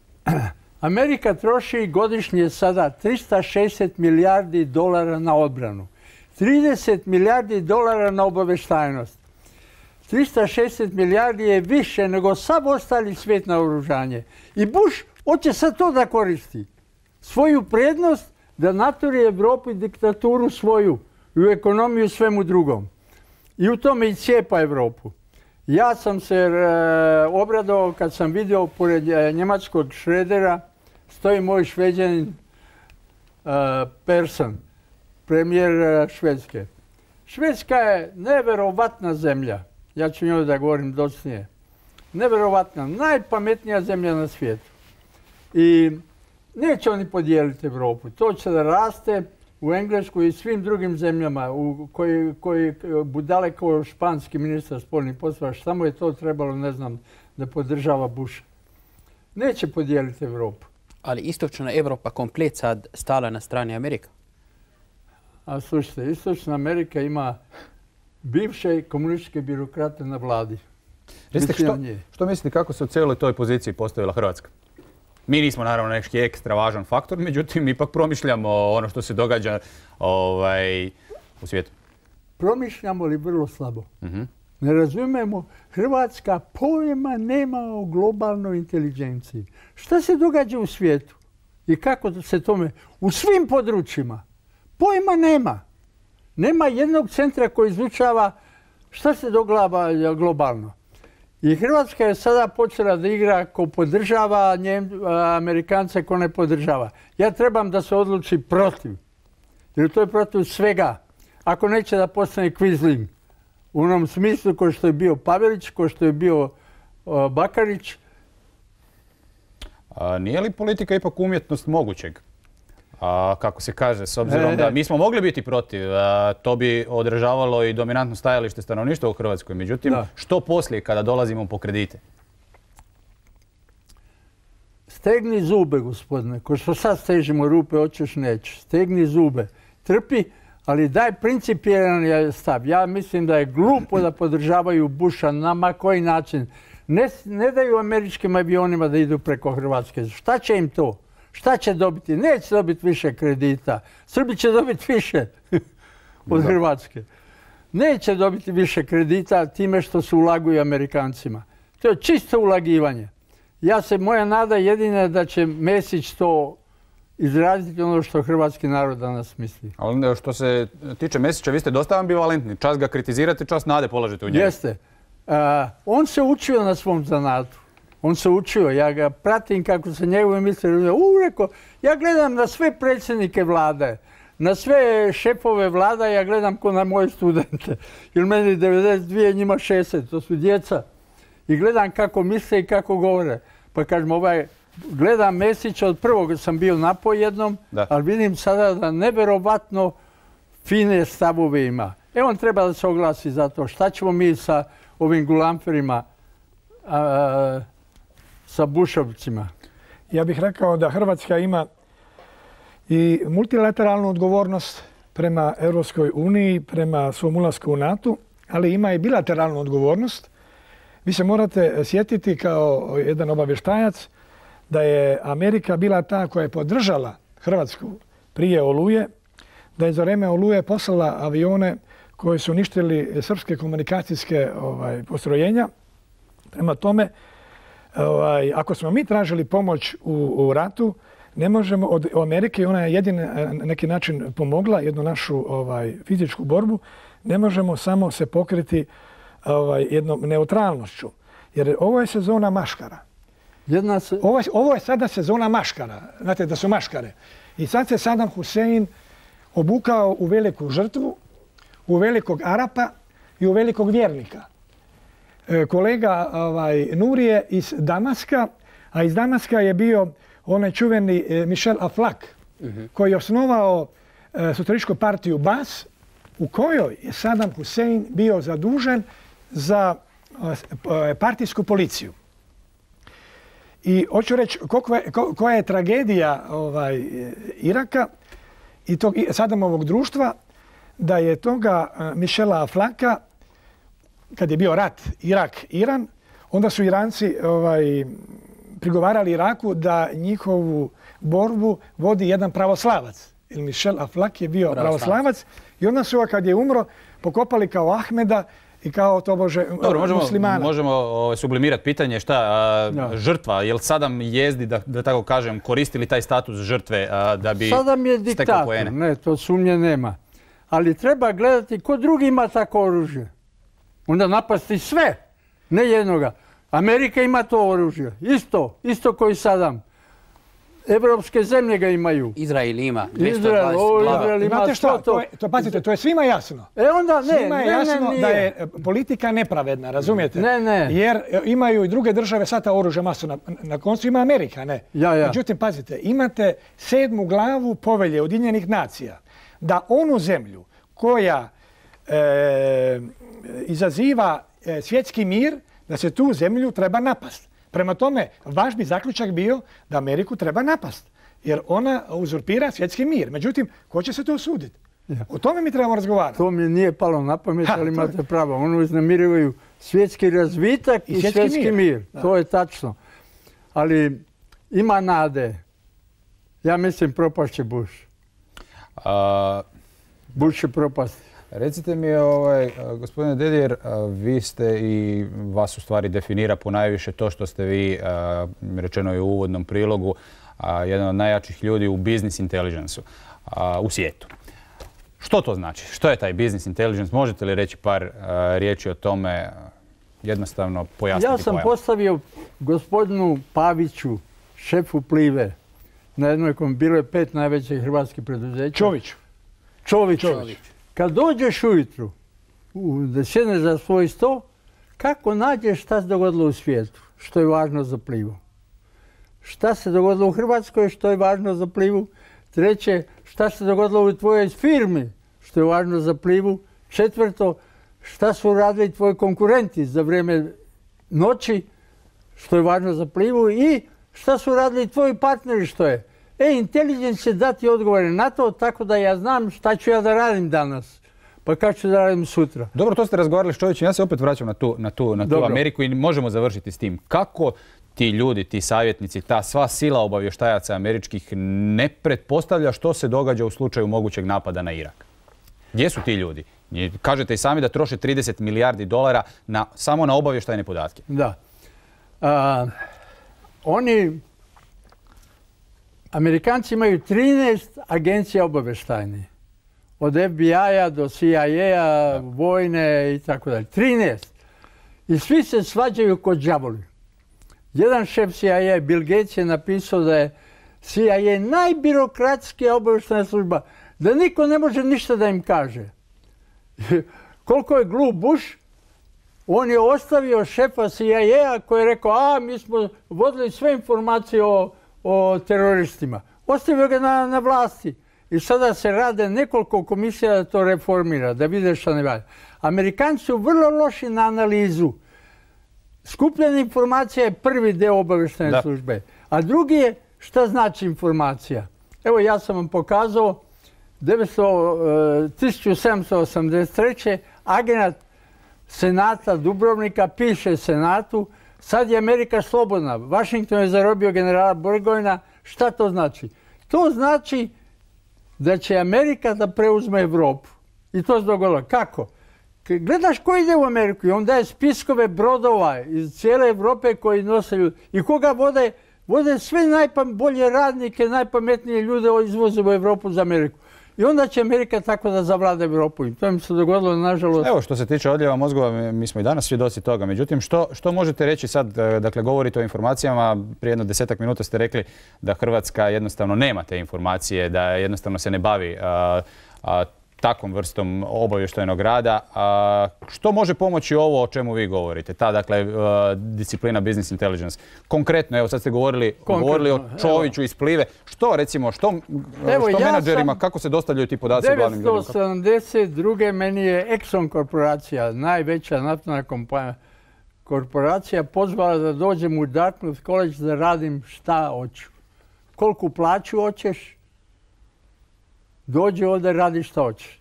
Amerika troši godišnje sada tristo šezdeset milijardi dolara na odbranu, trideset milijardi dolara na obaveštajnost. tristo šezdeset milijardi je više nego sav ostali svijet na oružanje. I Bush hoće sad to da koristi. Svoju prednost da naturi Evropu i diktaturu svoju i u ekonomiju svemu drugom. I u tome i cijepa Evropu. Ja sam se e, obradovao kad sam vidio pored e, njemačkog Šredera stoji moj Šveđanin e, Persson, premijer e, Švedske. Švedska je neverovatna zemlja. Ja ću njoj da govorim docnije. Neverovatna, najpametnija zemlja na svijetu. I neće oni podijeliti Evropu. To će da raste u Engleskoj i svim drugim zemljama u koji, koji budale kao španski ministar spoljnih poslova. Samo je to trebalo, ne znam, da podržava Busha. Neće podijeliti Evropu. Ali istočna Evropa komplet sad stala na strani Amerika? A slušajte, istočna Amerika ima bivše komunističke birokrate na vladi. Recite, što, što mislite kako se u cijeloj toj poziciji postavila Hrvatska? Mi nismo naravno neki ekstra važan faktor, međutim ipak promišljamo ono što se događa ovaj, u svijetu. Promišljamo li vrlo slabo? Uh-huh. Ne razumijemo, Hrvatska pojma nema o globalnoj inteligenciji. Šta se događa u svijetu i kako se tome u svim područjima? Pojma nema. Nema jednog centra koji izučava šta se događa globalno. I Hrvatska je sada počela da igra ko podržava Njem, Amerikance, ko ne podržava. Ja trebam da se odluči protiv. Jer to je protiv svega. Ako neće da postane Quisling u onom smislu ko što je bio Pavelić, ko što je bio uh, Bakarić. A nije li politika ipak umjetnost mogućeg? A, kako se kaže, s obzirom da mi smo mogli biti protiv, a, to bi odražavalo i dominantno stajalište stanovništva u Hrvatskoj. Međutim, da. Što poslije kada dolazimo po kredite? Stegni zube, gospodine. Ko što sad stežimo rupe, hoćeš nećeš. Stegni zube. Trpi, ali daj principijelan je stav. Ja mislim da je glupo da podržavaju Busha na ma koji način. Ne, ne daju američkim avionima da idu preko Hrvatske. Šta će im to? Šta će dobiti? Neće dobiti više kredita. Srbi će dobiti više od Hrvatske. Neće dobiti više kredita time što se ulaguju Amerikancima. To je čisto ulagivanje. Ja se, moja nada jedina je da će Mesić to izraziti ono što hrvatski narod danas misli. Ali što se tiče Mesića, vi ste dosta ambivalentni. Čas ga kritizirate, čas nade polažete u njega. Jeste. Uh, on se učio na svom zanatu. On se učio, ja ga pratim kako se njegove misle razumije. U, reko, ja gledam na sve predsjednike vlade, na sve šefove vlada, ja gledam ko na moje studente. Jer meni devedeset dvije, njima šezdeset, to su djeca. I gledam kako misle i kako govore. Pa kažem, ovaj gledam Mesića, od prvog sam bio napoj jednom, Da. ali vidim sada da neverovatno fine stavove ima. E on treba da se oglasi za to. Šta ćemo mi sa ovim gulamferima, a, sa bušovcima? Ja bih rekao da Hrvatska ima i multilateralnu odgovornost prema Europskoj uniji, prema svom ulasku u NATO, ali ima i bilateralnu odgovornost. Vi se morate sjetiti kao jedan obavještajac da je Amerika bila ta koja je podržala Hrvatsku prije Oluje, da je za vreme Oluje poslala avione koji su uništili srpske komunikacijske ovaj, postrojenja. Prema tome, ovaj, ako smo mi tražili pomoć u, u ratu, ne možemo od Amerike, ona je jedina na neki način pomogla jednu našu ovaj, fizičku borbu, ne možemo samo se pokriti ovaj, jednom neutralnošću. Jer ovo je sezona maškara. Jedna se... ovo, je, ovo je sada sezona maškara. Znate da su maškare. I sad se Saddam Hussein obukao u veliku žrtvu, u velikog Arapa i u velikog vjernika. E, kolega ovaj, Nurije iz Damaska, a iz Damaska je bio onaj čuveni e, Michel Aflaq, uh-huh. koji je osnovao e, socijalističku partiju Bas, u kojoj je Saddam Hussein bio zadužen za e, partijsku policiju. I hoću reći je, ko, koja je tragedija ovaj, Iraka i tog Saddamovog društva, da je toga Michela Aflaqa, kad je bio rat Irak-Iran, onda su Iranci ovaj, prigovarali Iraku da njihovu borbu vodi jedan pravoslavac. Jer Michel Aflaq je bio pravoslavac. pravoslavac i onda su ga, kad je umro, pokopali kao Ahmeda i kao tobože Dobro, možemo, muslimana. Možemo o, sublimirati pitanje šta, a, no. žrtva, je li Saddam jezdi, da, da tako kažem, koristili taj status žrtve a, da bi Saddam je stekao diktator, poene? Ne, to sumnje nema. Ali treba gledati ko drugi ima tako oružje. Onda napasti sve, ne jednoga. Amerika ima to oružje, isto, isto koji Saddam. Evropske zemlje ga imaju. Izrael ima. Izrael, o, Izrael ima. Znate šta, to, je, to, pazite, to je svima jasno. E onda ne, svima je ne, jasno ne, nije. da je politika nepravedna, razumijete? Ne, ne. Jer imaju i druge države sad ta oružja masu. Na, na koncu ima Amerika, ne? Ja, ja. Međutim, pazite, imate sedmu glavu povelje Ujedinjenih nacija da onu zemlju koja e, izaziva e, svjetski mir, da se tu zemlju treba napast. Prema tome, vaš bi zaključak bio da Ameriku treba napast, jer ona uzurpira svjetski mir. Međutim, ko će se to osuditi? Ja. O tome mi trebamo razgovarati. To mi nije palo na pamet, ha, ali imate pravo. Ono uznemirivaju svjetski razvitak i, i svjetski, svjetski mir. mir. To je tačno. Ali ima nade. Ja mislim propašće Bush. A... Bush će propasti. Recite mi, ovaj, gospodine Dedijer, vi ste i vas u stvari definira ponajviše to što ste vi, rečeno je u uvodnom prilogu, jedan od najjačih ljudi u business intelligence-u u svijetu. Što to znači? Što je taj business intelligence? Možete li reći par riječi o tome, jednostavno pojasniti? Ja sam pojam? postavio gospodinu Paviću, šefu Plive, na jednoj kom bilo je pet najvećih hrvatskih preduzeća. Čoviću. Čović. Čović. Kad dođeš ujutru, da sjedneš za svoj sto, kako nađeš šta se dogodilo u svijetu, što je važno za Plivu? Šta se dogodilo u Hrvatskoj, što je važno za Plivu? Treće, šta se dogodilo u tvojoj firmi, što je važno za Plivu? Četvrto, šta su radili tvoji konkurenti za vrijeme noći, što je važno za Plivu? I šta su radili tvoji partneri, što je? E, Intelligence će dati odgovore na to, tako da ja znam šta ću ja da radim danas, pa kako ću da radim sutra. Dobro, to ste razgovarali s čovječem, ja se opet vraćam na tu, na tu, na tu Ameriku i možemo završiti s tim. Kako ti ljudi, ti savjetnici, ta sva sila obavještajaca američkih ne pretpostavlja što se događa u slučaju mogućeg napada na Irak? Gdje su ti ljudi? Kažete i sami da troše trideset milijardi dolara na, samo na obavještajne podatke. Da. A, oni... Amerikanci imaju trinaest agencija obavještajnih. Od F B I-a do C I A-a, vojne i tako dalje. trinaest. I svi se svađaju kod đavoli. Jedan šef C I A, Bill Gates, je napisao da je C I A najbirokratskija obavještajna služba, da niko ne može ništa da im kaže. Koliko je glup Bush, On je ostavio šefa C I A koji je rekao, a mi smo vodili sve informacije o, o teroristima. Ostavio ga na, na vlasti. I sada se rade nekoliko komisija da to reformira, da vide šta ne valja. Amerikanci su vrlo loši na analizu. Skupljena informacija je prvi deo obavještajne službe. A drugi je šta znači informacija. Evo ja sam vam pokazao tisuću sedamsto osamdeset treće. agent Senata Dubrovnika piše Senatu, sad je Amerika slobodna. Washington je zarobio generala Burgoyna. Šta to znači? To znači da će Amerika da preuzme Evropu. I to se dogodilo. Kako? Gledaš ko ide u Ameriku i on daje spiskove brodova iz cijele Evrope koji nose ljudi. I koga vode? Vode sve najbolje radnike, najpametnije ljude izvoze u Evropu za Ameriku. I onda će Amerika tako da zavlada Evropu. I to mi se dogodilo, nažalost. Evo, što se tiče odljeva mozgova, mi smo i danas svjedoci toga. Međutim, što, što možete reći sad, dakle, govorite o informacijama, prije jedno desetak minuta ste rekli da Hrvatska jednostavno nema te informacije, da jednostavno se ne bavi a, a, takvom vrstom obavještajnog rada. A, što može pomoći ovo o čemu vi govorite? Ta, dakle, a, disciplina business intelligence. Konkretno, evo sad ste govorili, govorili o Čoviću iz Plive. Što, recimo, što, evo, što ja menadžerima, kako se dostavljaju ti podaci o glavnim ljudima? devetsto sedamdeset druge. meni je Exxon korporacija, najveća naftna kompanija, korporacija pozvala da dođem u Dartmouth College da radim šta hoću. Koliku plaću hoćeš? Dođi ovdje, radi šta hoćeš.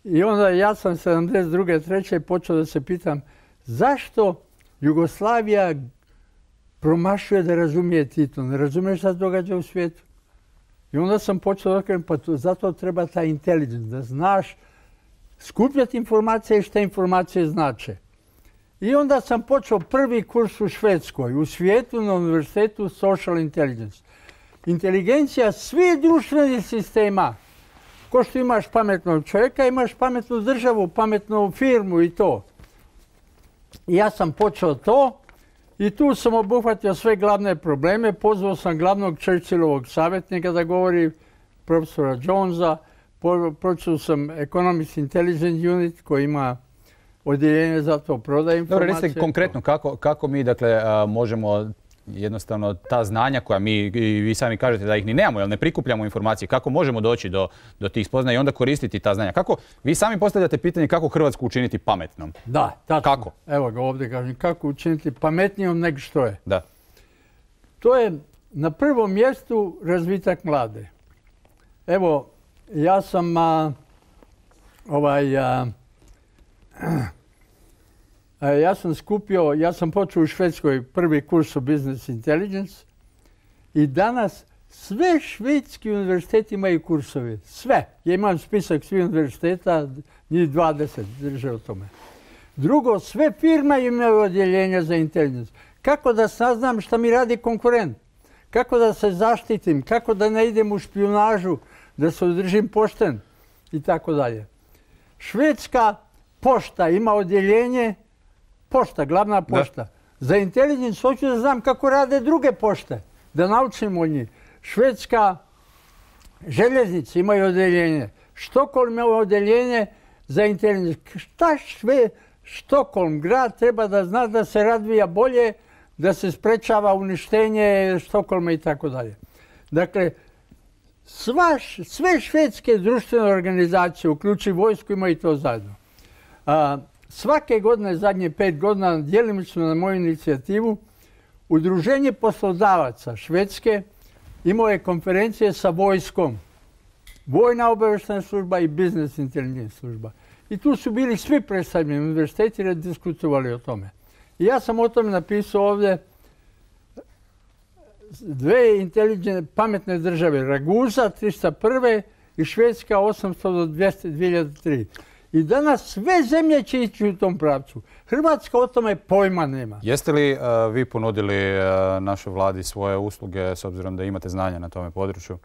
I onda ja sam sedamdeset druge. treće počeo da se pitam zašto Jugoslavija promašuje da razumije Tito. Ne razumiješ šta se događa u svijetu. I onda sam počeo da kažem, pa to, zato treba ta intelligence, da znaš skupljati informacije i šta informacije znače. I onda sam počeo prvi kurs u Švedskoj, u svijetu na univerzitetu Social Intelligence. Inteligencija svih društvenih sistema. Ko što imaš pametnog čovjeka, imaš pametnu državu, pametnu firmu i to. I ja sam počeo to i tu sam obuhvatio sve glavne probleme. Pozvao sam glavnog Churchillovog savjetnika da govori, profesora Jonesa. Počeo sam Economist Intelligence Unit koji ima odjeljenje za to, prodaje informacije. Dobro, recite konkretno kako, kako mi dakle, možemo jednostavno ta znanja koja mi, i vi sami kažete da ih ni nemamo, jer ne prikupljamo informacije, kako možemo doći do, do tih spoznaja i onda koristiti ta znanja. Kako, vi sami postavljate pitanje kako Hrvatsku učiniti pametnom. Da, tačno. Kako? Evo ga ovdje kažem, kako učiniti pametnijom nego što je. Da. To je na prvom mjestu razvitak mlade. Evo, ja sam a, ovaj... A, Ja sam skupio, ja sam počeo u Švedskoj prvi kurs o Business Intelligence i danas sve švedski univerziteti imaju kursove. Sve. Ja imam spisak svih univerziteta, njih dvadeset drže o tome. Drugo, sve firme imaju odjeljenja za intelligence. Kako da saznam šta mi radi konkurent? Kako da se zaštitim? Kako da ne idem u špijunažu? Da se održim pošten? I tako dalje. Švedska pošta ima odjeljenje pošta, glavna pošta. Da. Za intelligence hoću da znam kako rade druge pošte, da naučim od njih. Švedska željeznice imaju odjeljenje. Štokholm ima odjeljenje za intelligence. Šta šve, Štokholm, grad, treba da zna da se razvija bolje, da se sprečava uništenje Štokholma i tako dalje. Dakle, sva, sve švedske društvene organizacije, uključi vojsku, imaju to zajedno. A, Svake godine, zadnje pet godina, djelimično na moju inicijativu, Udruženje poslodavaca Švedske imao je konferencije sa vojskom. Vojna obavještajna služba i business intelligence služba. I tu su bili svi predstavljeni univerziteti i diskutovali o tome. I ja sam o tome napisao ovdje dve inteligentne, pametne države. Raguza trista prve i Švedska osamsto do dvjesto dvije hiljade tri. I danas sve zemlje će ići u tom pravcu. Hrvatska o tome pojma nema. Jeste li uh, vi ponudili uh, našoj vladi svoje usluge s obzirom da imate znanja na tome području?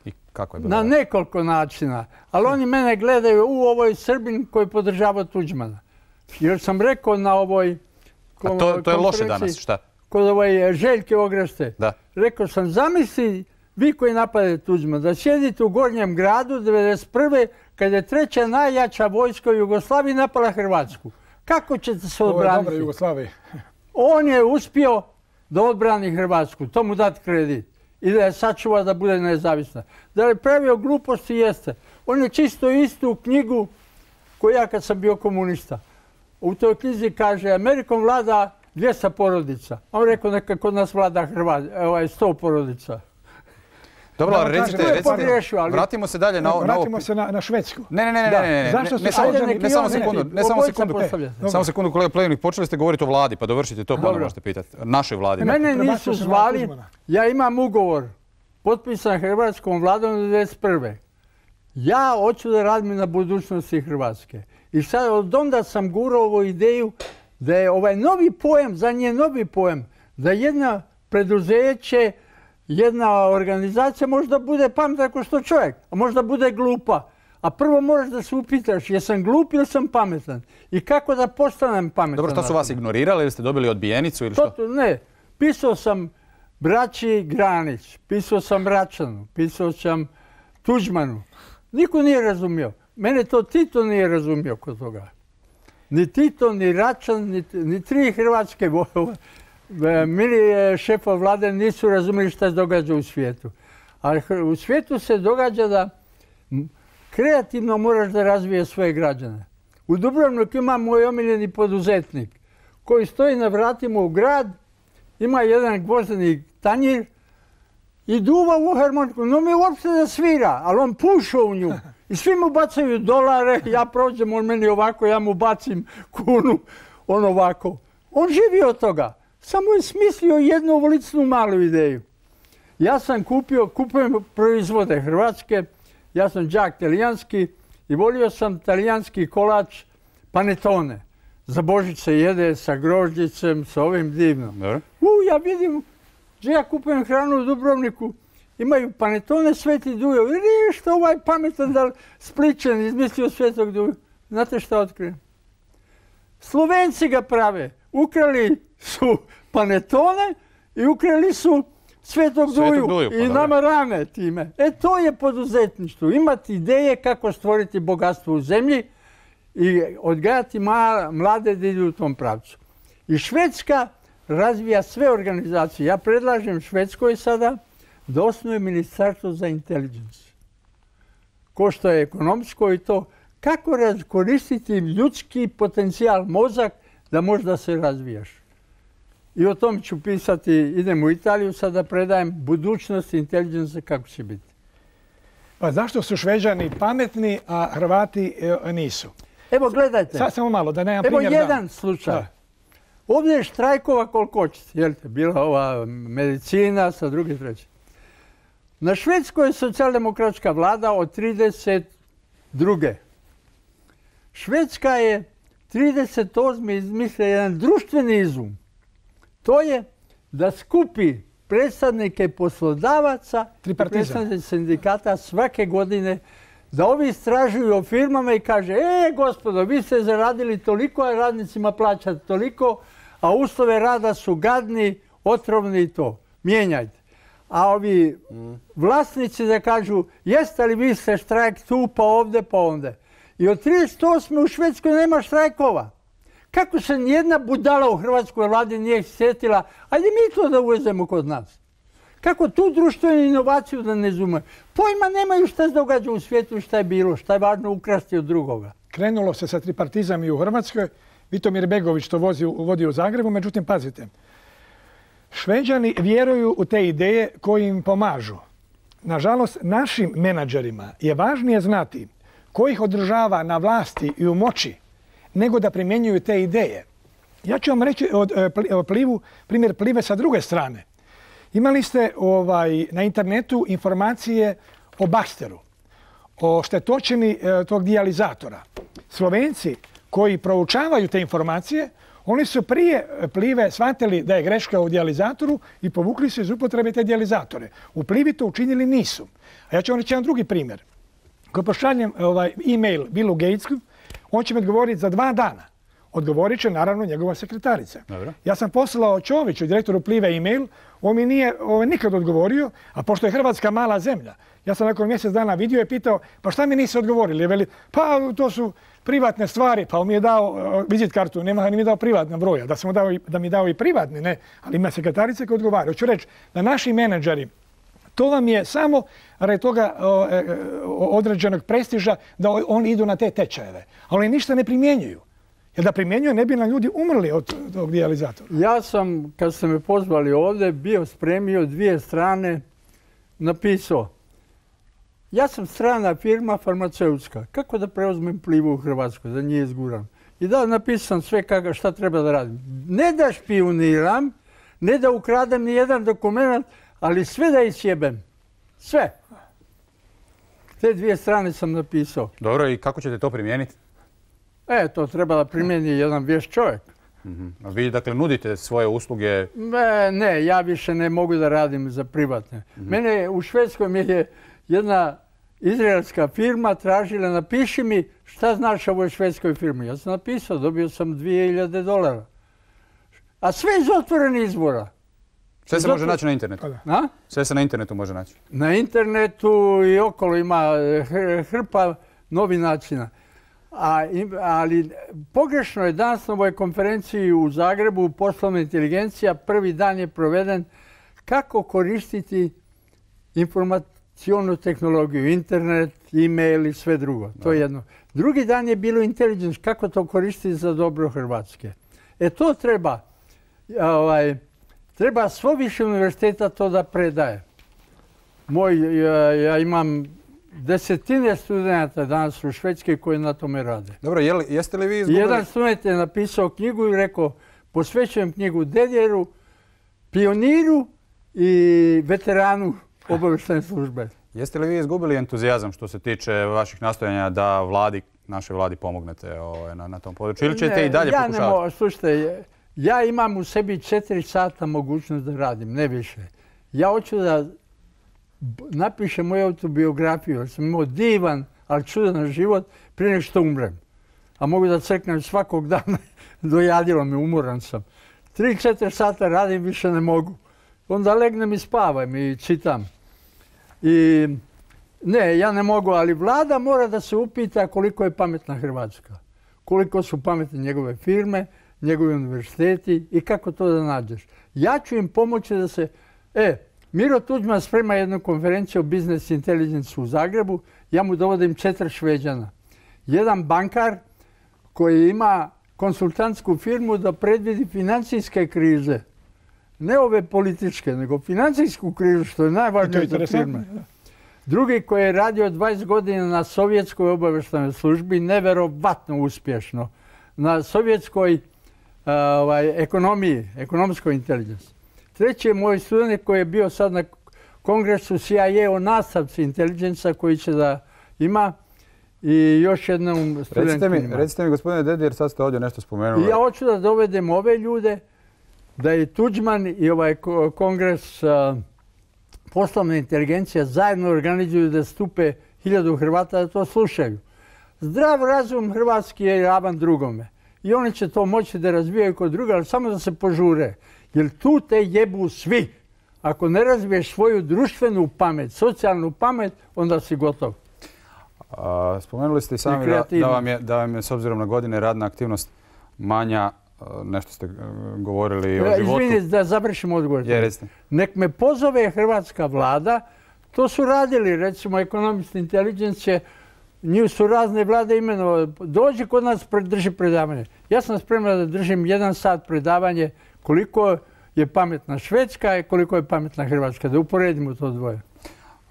I kako je bilo? Na nekoliko načina. Ali oni mene gledaju u ovoj Srbin koji podržava Tuđmana. Jer sam rekao na ovoj A to, to je loše danas, šta? Kod ovoj Željke Ograšte. Da. Rekao sam, zamisli vi koji napadate Tuđmana, da sjedite u Gornjem gradu devedeset prve kad je treća najjača vojska u Jugoslaviji napala Hrvatsku. Kako ćete se Ovo je odbraniti? dobro Jugoslaviji. On je uspio da odbrani Hrvatsku, to mu dati kredit i da je sačuva da bude nezavisna. Da je pravio gluposti, jeste. On je čisto istu knjigu koju ja kad sam bio komunista. U toj knjizi kaže Amerikom vlada dvjesto porodica. On rekao neka kod nas vlada Hrvatska, sto porodica. Dobro, ali recite, recite, ali... vratimo se dalje na ovo. Vratimo se na, na Švedsku. Ne, ne, ne, ne, ne, ne, Zašto ne, su ne, samo, Šveđani- ne, samo sekundu, ne, samo sekundu, postavljate. samo sekundu, kolega Plevnik, počeli ste govoriti o vladi, pa dovršite to, pa onda Dobro. možete pitati. Našoj vladi. Mene Prebacio nisu se na zvali, Tuđmana. ja imam ugovor potpisan Hrvatskom vladom devedeset prve. Ja hoću da radim na budućnosti Hrvatske. I sad od onda sam gurao ovu ideju da je ovaj novi pojam, za nje novi pojam, da jedna preduzeće, jedna organizacija možda bude pametna kao što čovjek, a možda bude glupa. A prvo moraš da se upitaš jesam glup ili sam pametan i kako da postanem pametan. Dobro, što su vas ignorirali ili ste dobili odbijenicu ili što? To, ne, pisao sam braći Granić, pisao sam Račanu, pisao sam Tuđmanu. Niko nije razumio. Mene to Tito nije razumio kod toga. Ni Tito, ni Račan, ni, ni tri hrvatske vojove. Mili šefa vlade nisu razumjeli šta se događa u svijetu. Ali u svijetu se događa da kreativno moraš da razvije svoje građane. U Dubrovniku ima moj omiljeni poduzetnik koji stoji na vratima u grad, ima jedan gvozdeni tanjir i duva u harmoniku. No mi uopšte da svira, ali on puša u nju. I svi mu bacaju dolare, ja prođem, on meni ovako, ja mu bacim kunu, on ovako. On živi od toga. Samo je smislio jednu ovolicnu malu ideju. Ja sam kupio, kupujem proizvode hrvatske, ja sam đak talijanski i volio sam talijanski kolač panetone. Za Božić se jede sa grožđicem, sa ovim divnom. U, ja vidim, že ja kupujem hranu u Dubrovniku, imaju panetone Sveti Dujo. I što ovaj pametan da Spličan izmislio Svetog Dujo. Znate šta otkrijem? Slovenci ga prave. Ukrali su panetone i ukrali su Svetog Duju, Duju pa, i nama rane time. E to je poduzetništvo. Imati ideje kako stvoriti bogatstvo u zemlji i odgajati mlade da idu u tom pravcu. I Švedska razvija sve organizacije. Ja predlažem Švedskoj sada da osnuje ministarstvo za intelligence. Ko što je ekonomsko i to. Kako koristiti ljudski potencijal, mozak, da možda se razvijaš. I o tom ću pisati, idem u Italiju, sada predajem budućnost inteligencije kako će biti. Pa zašto su Šveđani pametni, a Hrvati e, nisu? Evo gledajte. Sad samo malo, da nemam Evo primjer. jedan da. slučaj. Da. Ovdje je štrajkova koliko hoćete. Jel te, bila ova medicina sa druge treće. Na Švedskoj je socijaldemokratska vlada od trideset druge. Švedska je trideset osme izmislila jedan društveni izum. To je da skupi predstavnike poslodavaca i predstavnike sindikata svake godine da ovi istražuju o firmama i kaže e, gospodo, vi ste zaradili toliko, a radnicima plaćate toliko, a uslove rada su gadni, otrovni i to. Mijenjajte. A ovi vlasnici da kažu jeste li vi ste štrajk tu, pa ovdje, pa ovdje. I od trideset osme u Švedskoj nema štrajkova. Kako se nijedna budala u hrvatskoj vladi nije sjetila, ajde mi to da uvezemo kod nas. Kako tu društvenu inovaciju da ne zume? Pojma nemaju šta se događa u svijetu, šta je bilo, šta je važno ukrasti od drugoga. Krenulo se sa tripartizam i u Hrvatskoj. Vitomir Begović to vozi, vodi u Zagrebu, međutim, pazite. Šveđani vjeruju u te ideje koji im pomažu. Nažalost, našim menadžerima je važnije znati ko ih održava na vlasti i u moći, nego da primjenjuju te ideje. Ja ću vam reći od, od plivu, primjer Plive sa druge strane. Imali ste ovaj, na internetu informacije o Baxteru, o štetočini e, tog dijalizatora. Slovenci koji proučavaju te informacije, oni su prije Plive shvatili da je greška u dijalizatoru i povukli se iz upotrebe te dijalizatore. U Plivi to učinili nisu. A ja ću vam reći jedan drugi primjer. Ko pošaljem ovaj, e-mail Billu Gatesu, on će mi odgovoriti za dva dana. Odgovorit će naravno njegova sekretarica. Dobro. Ja sam poslao Čoviću, direktoru Plive, e-mail, on mi nije ovaj, nikad odgovorio, a pošto je Hrvatska mala zemlja, ja sam nakon mjesec dana vidio i pitao, pa šta mi niste odgovorili? Veli, pa to su privatne stvari, pa on mi je dao uh, vizit kartu, nema ni mi dao privatna broja, da, sam dao i, da mi dao i privatni, ne, ali ima sekretarice koje odgovaraju. Hoću reći da naši menadžeri, to vam je samo radi toga o, e, određenog prestiža da oni idu na te tečajeve, ali ništa ne primjenjuju. Jer da primjenjuju ne bi nam ljudi umrli od tog dijalizatora. Ja sam, kad ste me pozvali ovdje, bio spremio dvije strane, napisao. Ja sam strana firma farmaceutska. Kako da preuzmem Plivu u Hrvatskoj, da nije izguram? I da, napisam sve kako, šta treba da radim. Ne da špioniram, ne da ukradem ni jedan dokument, ali sve da isjebem. Sve. Te dvije strane sam napisao. Dobro, i kako ćete to primijeniti? E, to treba da primijeni jedan vješt čovjek. Mm-hmm. A vi dakle nudite svoje usluge? Ne, ne, ja više ne mogu da radim za privatne. Mm-hmm. Mene u Švedskoj mi je jedna izraelska firma tražila, napiši mi šta znaš o ovoj švedskoj firmi. Ja sam napisao, dobio sam dvije hiljade dolara. A sve iz otvorenih izvora. Sve se može naći na internetu? A? Sve se na internetu može naći? Na internetu i okolo ima hrpa novih načina. A, ali pogrešno je danas na ovoj konferenciji u Zagrebu poslovna inteligencija, prvi dan je proveden kako koristiti informacionu tehnologiju, internet, e-mail i sve drugo. To je jedno. Drugi dan je bilo intelligence, kako to koristiti za dobro Hrvatske. E to treba, ovaj, treba svo više univerziteta to da predaje. Moj, ja, ja imam desetine studenta danas u Švedskoj koji na tome rade. Dobro, je li, jeste li vi izgubili? Jedan student je napisao knjigu i rekao, posvećujem knjigu Dedjeru, pioniru i veteranu obavještajne službe. Jeste li vi izgubili entuzijazam što se tiče vaših nastojanja da vladi, našoj vladi pomognete ovaj, na, na tom području? Ili ćete ne, i dalje ja pokušavati? Ne, slušajte, ja imam u sebi četiri sata mogućnost da radim, ne više. Ja hoću da napišem moju autobiografiju, jer sam imao divan, ali čudan život prije nego što umrem. A mogu da crknem svakog dana, dojadilo me, umoran sam. Tri, četiri sata radim, više ne mogu. Onda legnem i spavam i čitam. I ne, ja ne mogu, ali vlada mora da se upita koliko je pametna Hrvatska. Koliko su pametne njegove firme, njegovi univerziteti i kako to da nađeš. Ja ću im pomoći da se... E, Miro Tuđman sprema jednu konferenciju o Business Intelligence u Zagrebu. Ja mu dovodim četiri Šveđana. Jedan bankar koji ima konsultantsku firmu da predvidi financijske krize. Ne ove političke, nego financijsku krizu, što je najvažnije za firme. Drugi koji je radio dvadeset godina na sovjetskoj obavještajnoj službi, neverovatno uspješno. Na sovjetskoj uh, ovaj, ekonomiji, ekonomskoj inteligenciji. Treći je moj student koji je bio sad na kongresu C I A o nastavci inteligenca koji će da ima i još jednom studentima. Recite mi, recite mi gospodine Dedijer, sad ste ovdje nešto spomenuli. I ja hoću da dovedem ove ljude, da i Tuđman i ovaj kongres uh, poslovne inteligencije zajedno organizuju da stupe hiljadu Hrvata da to slušaju. Zdrav razum hrvatski je ravan drugome. I oni će to moći da razvijaju kod druga, ali samo da se požure. Jer tu te jebu svi. Ako ne razviješ svoju društvenu pamet, socijalnu pamet, onda si gotov. A, spomenuli ste i sami da, da, vam je, da vam je s obzirom na godine radna aktivnost manja. Nešto ste govorili o životu. Izvini da završim odgovor. Je, nek me pozove hrvatska vlada. To su radili, recimo, Economist Intelligence, njih su razne vlade imenovali. Dođi kod nas, drži predavanje. Ja sam spreman da držim jedan sat predavanje koliko je pametna Švedska i koliko je pametna Hrvatska. Da uporedimo to dvoje.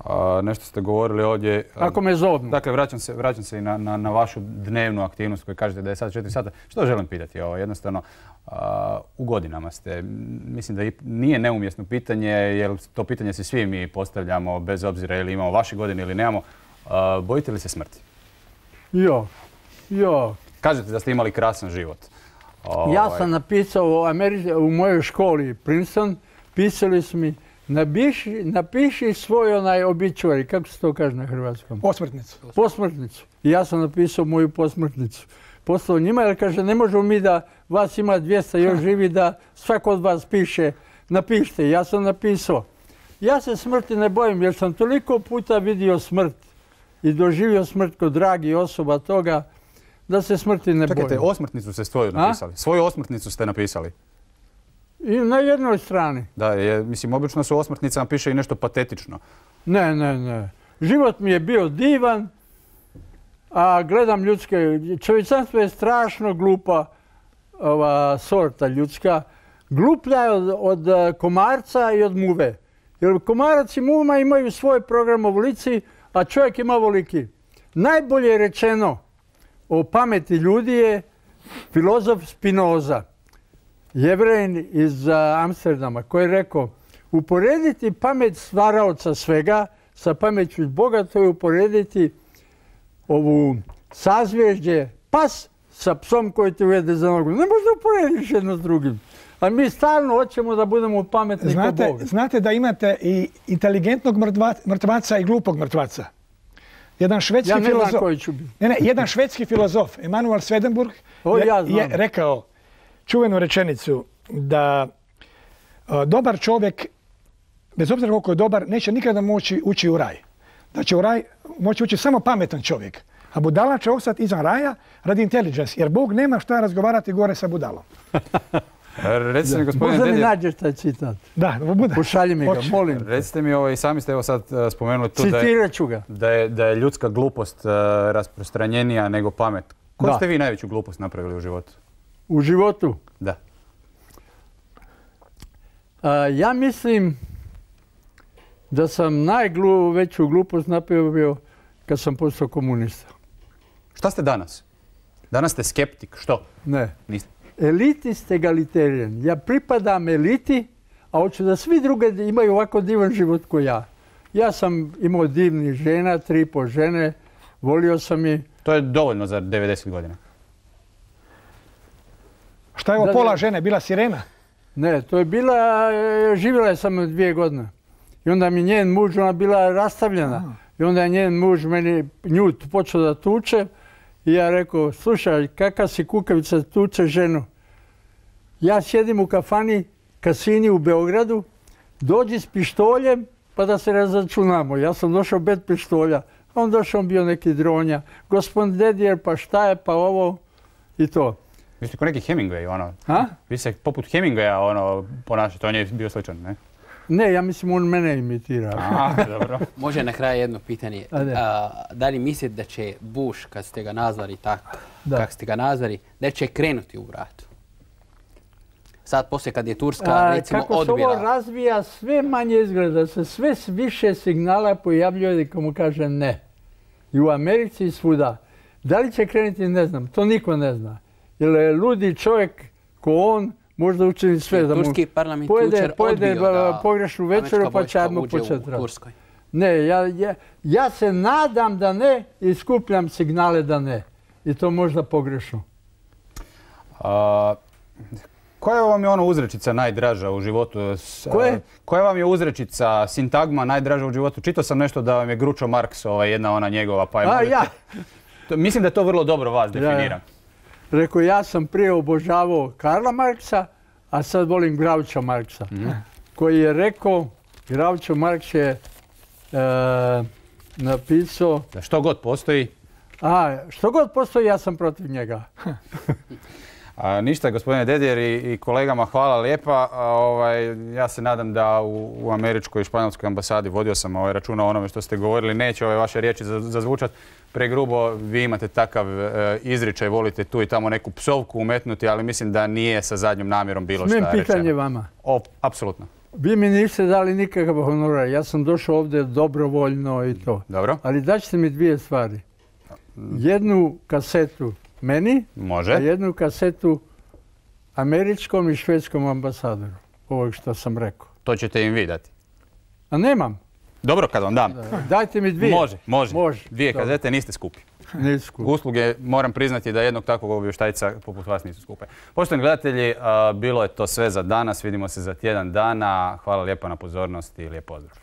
A, nešto ste govorili ovdje. Ako me zovnu. Dakle, vraćam se, vraćam se i na, na, na vašu dnevnu aktivnost koju kažete da je sad četiri sata. Što želim pitati? Ovo, jednostavno, a, u godinama ste, mislim da nije neumjesno pitanje, jer to pitanje se svi mi postavljamo bez obzira ili imamo vaše godine ili nemamo. A, bojite li se smrti? Jo, jo. Kažete da ste imali krasan život. Ovaj. Ja sam napisao u, Ameri- u mojoj školi Princeton, pisali su mi Napiši, napiši svoj onaj obituary, kako se to kaže na hrvatskom? Posmrtnicu. Posmrtnicu. I ja sam napisao moju posmrtnicu. poslao njima, jer kaže, ne možemo mi da vas ima dvjesto još živi, da svako od vas piše, napišite. Ja sam napisao. Ja se smrti ne bojim, jer sam toliko puta vidio smrt i doživio smrt kod dragih osoba toga, da se smrti ne bojim. Čekajte, osmrtnicu ste svoju napisali. Svoju osmrtnicu ste napisali. I na jednoj strani. Da, je, mislim, obično su osmrtnicama piše i nešto patetično. Ne, ne, ne. Život mi je bio divan, a gledam ljudske... Čovječanstvo je strašno glupa ova sorta ljudska. Gluplja je od, od komarca i od muve. Jer komarac i muva imaju svoj program u volici, a čovjek ima voliki. Najbolje je rečeno o pameti ljudi je filozof Spinoza, Jevrejin iz Amsterdama, koji je rekao, uporediti pamet stvaraoca svega sa pameću Boga, to je uporediti ovu sazvježđe pas sa psom koji te uvede za nogu. Ne možda uporediš jedno s drugim. A mi stalno hoćemo da budemo pametni kao Boga. Znate da imate i inteligentnog mrtvaca i glupog mrtvaca. Jedan švedski ja ne filozof, znam koji ću biti. Ne, ne, jedan švedski filozof, Emanuel Swedenborg, o, je, ja je rekao čuvenu rečenicu da a, dobar čovjek, bez obzira koliko je dobar, neće nikada moći ući u raj. Da će u raj moći ući samo pametan čovjek. A budala će ostati izvan raja radi intelligence, jer Bog nema šta razgovarati gore sa budalom. Recite mi, gospodine Možda mi Dedjer... nađeš taj citat. Da, bude. Pošalji mi ga, Hoće. molim. Recite mi, ovo, i sami ste evo sad uh, spomenuli tu da Citirat ću ga. je, da, je, da je ljudska glupost uh, rasprostranjenija nego pamet. Koju Da. ste vi najveću glupost napravili u životu? U životu? Da. A, ja mislim da sam najveću glupost napravio kad sam postao komunista. Šta ste danas? Danas ste skeptik. Što? Ne. Niste. Elitist egalitarian. Ja pripadam eliti, a hoću da svi druge imaju ovako divan život ko ja. Ja sam imao divnih žena, tri po žene, volio sam ih. To je dovoljno za devedeset godina. Šta je ovo Da, pola da. žene, bila sirena? Ne, to je bila, e, živjela je samo dvije godine. I onda mi njen muž, ona bila rastavljena. I onda je njen muž meni nju počeo da tuče. I ja rekao, slušaj, kakav si kukavica, tuče ženu. Ja sjedim u kafani, kasini u Beogradu, dođi s pištoljem pa da se razračunamo. Ja sam došao bez pištolja. A on došao, on bio neki dronja. Gospodin Dedjer, pa šta je, pa ovo i to. Vi ste ko neki Hemingway, ono. A? Vi ste poput Hemingwaya, ono, ponašate. On je bio sličan, ne? Ne, ja mislim on mene imitira. A, dobro. Može na kraju jedno pitanje. Ajde. A, da li mislite da će Bush, kad ste ga nazvali tako, Da. kako ste ga nazvali, da će krenuti u vratu? Sad poslije kad je Turska, A, recimo, kako se odbila... ovo razvija, sve manje izgleda, se sve više signala pojavljuje komu kaže ne. I u Americi i svuda. Da li će krenuti, ne znam, to niko ne zna. Jer je ludi čovjek ko on možda učini sve da mu Turski parlament pojede, jučer pojede odbio da pogrešnu večeru američka pa će vojska odmah uđe početi u rat. Turskoj. Ne, ja, ja, ja se nadam da ne i skupljam signale da ne. I to možda pogrešno. A, koja vam je ono uzrečica najdraža u životu? S- Koje? Koja vam je uzrečica, sintagma najdraža u životu? Čitao sam nešto da vam je Groucho Marx, ovaj, jedna ona njegova, pa je... A možete- ja, To- Mislim da je to vrlo dobro vas ja. definira. Rekao, ja sam prije obožavao Karla Marksa, a sad volim Groucha Marksa. Koji je rekao, Groucho Marx je e, napisao, Da što god postoji. a što god postoji, ja sam protiv njega. A, ništa, gospodine Dedjer i, i kolegama, hvala lijepa. A, ovaj, ja se nadam da u, u američkoj i španjolskoj ambasadi, vodio sam ovaj računa o onome što ste govorili, neće ove vaše riječi za- zazvučati pregrubo. Vi imate takav e, izričaj, volite tu i tamo neku psovku umetnuti, ali mislim da nije sa zadnjom namjerom bilo Smijem šta pitanje rečeno. vama. O, apsolutno. Vi mi niste dali nikakav honorar. Ja sam došao ovdje dobrovoljno i to. Dobro, Ali daćete mi dvije stvari. Jednu kasetu meni, a može. jednu kasetu američkom i švedskom ambasadoru. Ovo što sam rekao. To ćete im vi dati. A nemam. Dobro, kad vam dam. Dajte mi dvije. Može, može. Može. Dvije Dobro. kazete, niste skupi. Nisku. Usluge, moram priznati da jednog takvog obavještajca poput vas nisu skupe. Poštovani gledatelji, a, bilo je to sve za danas. Vidimo se za tjedan dana. Hvala lijepa na pozornosti i lijep pozdrav.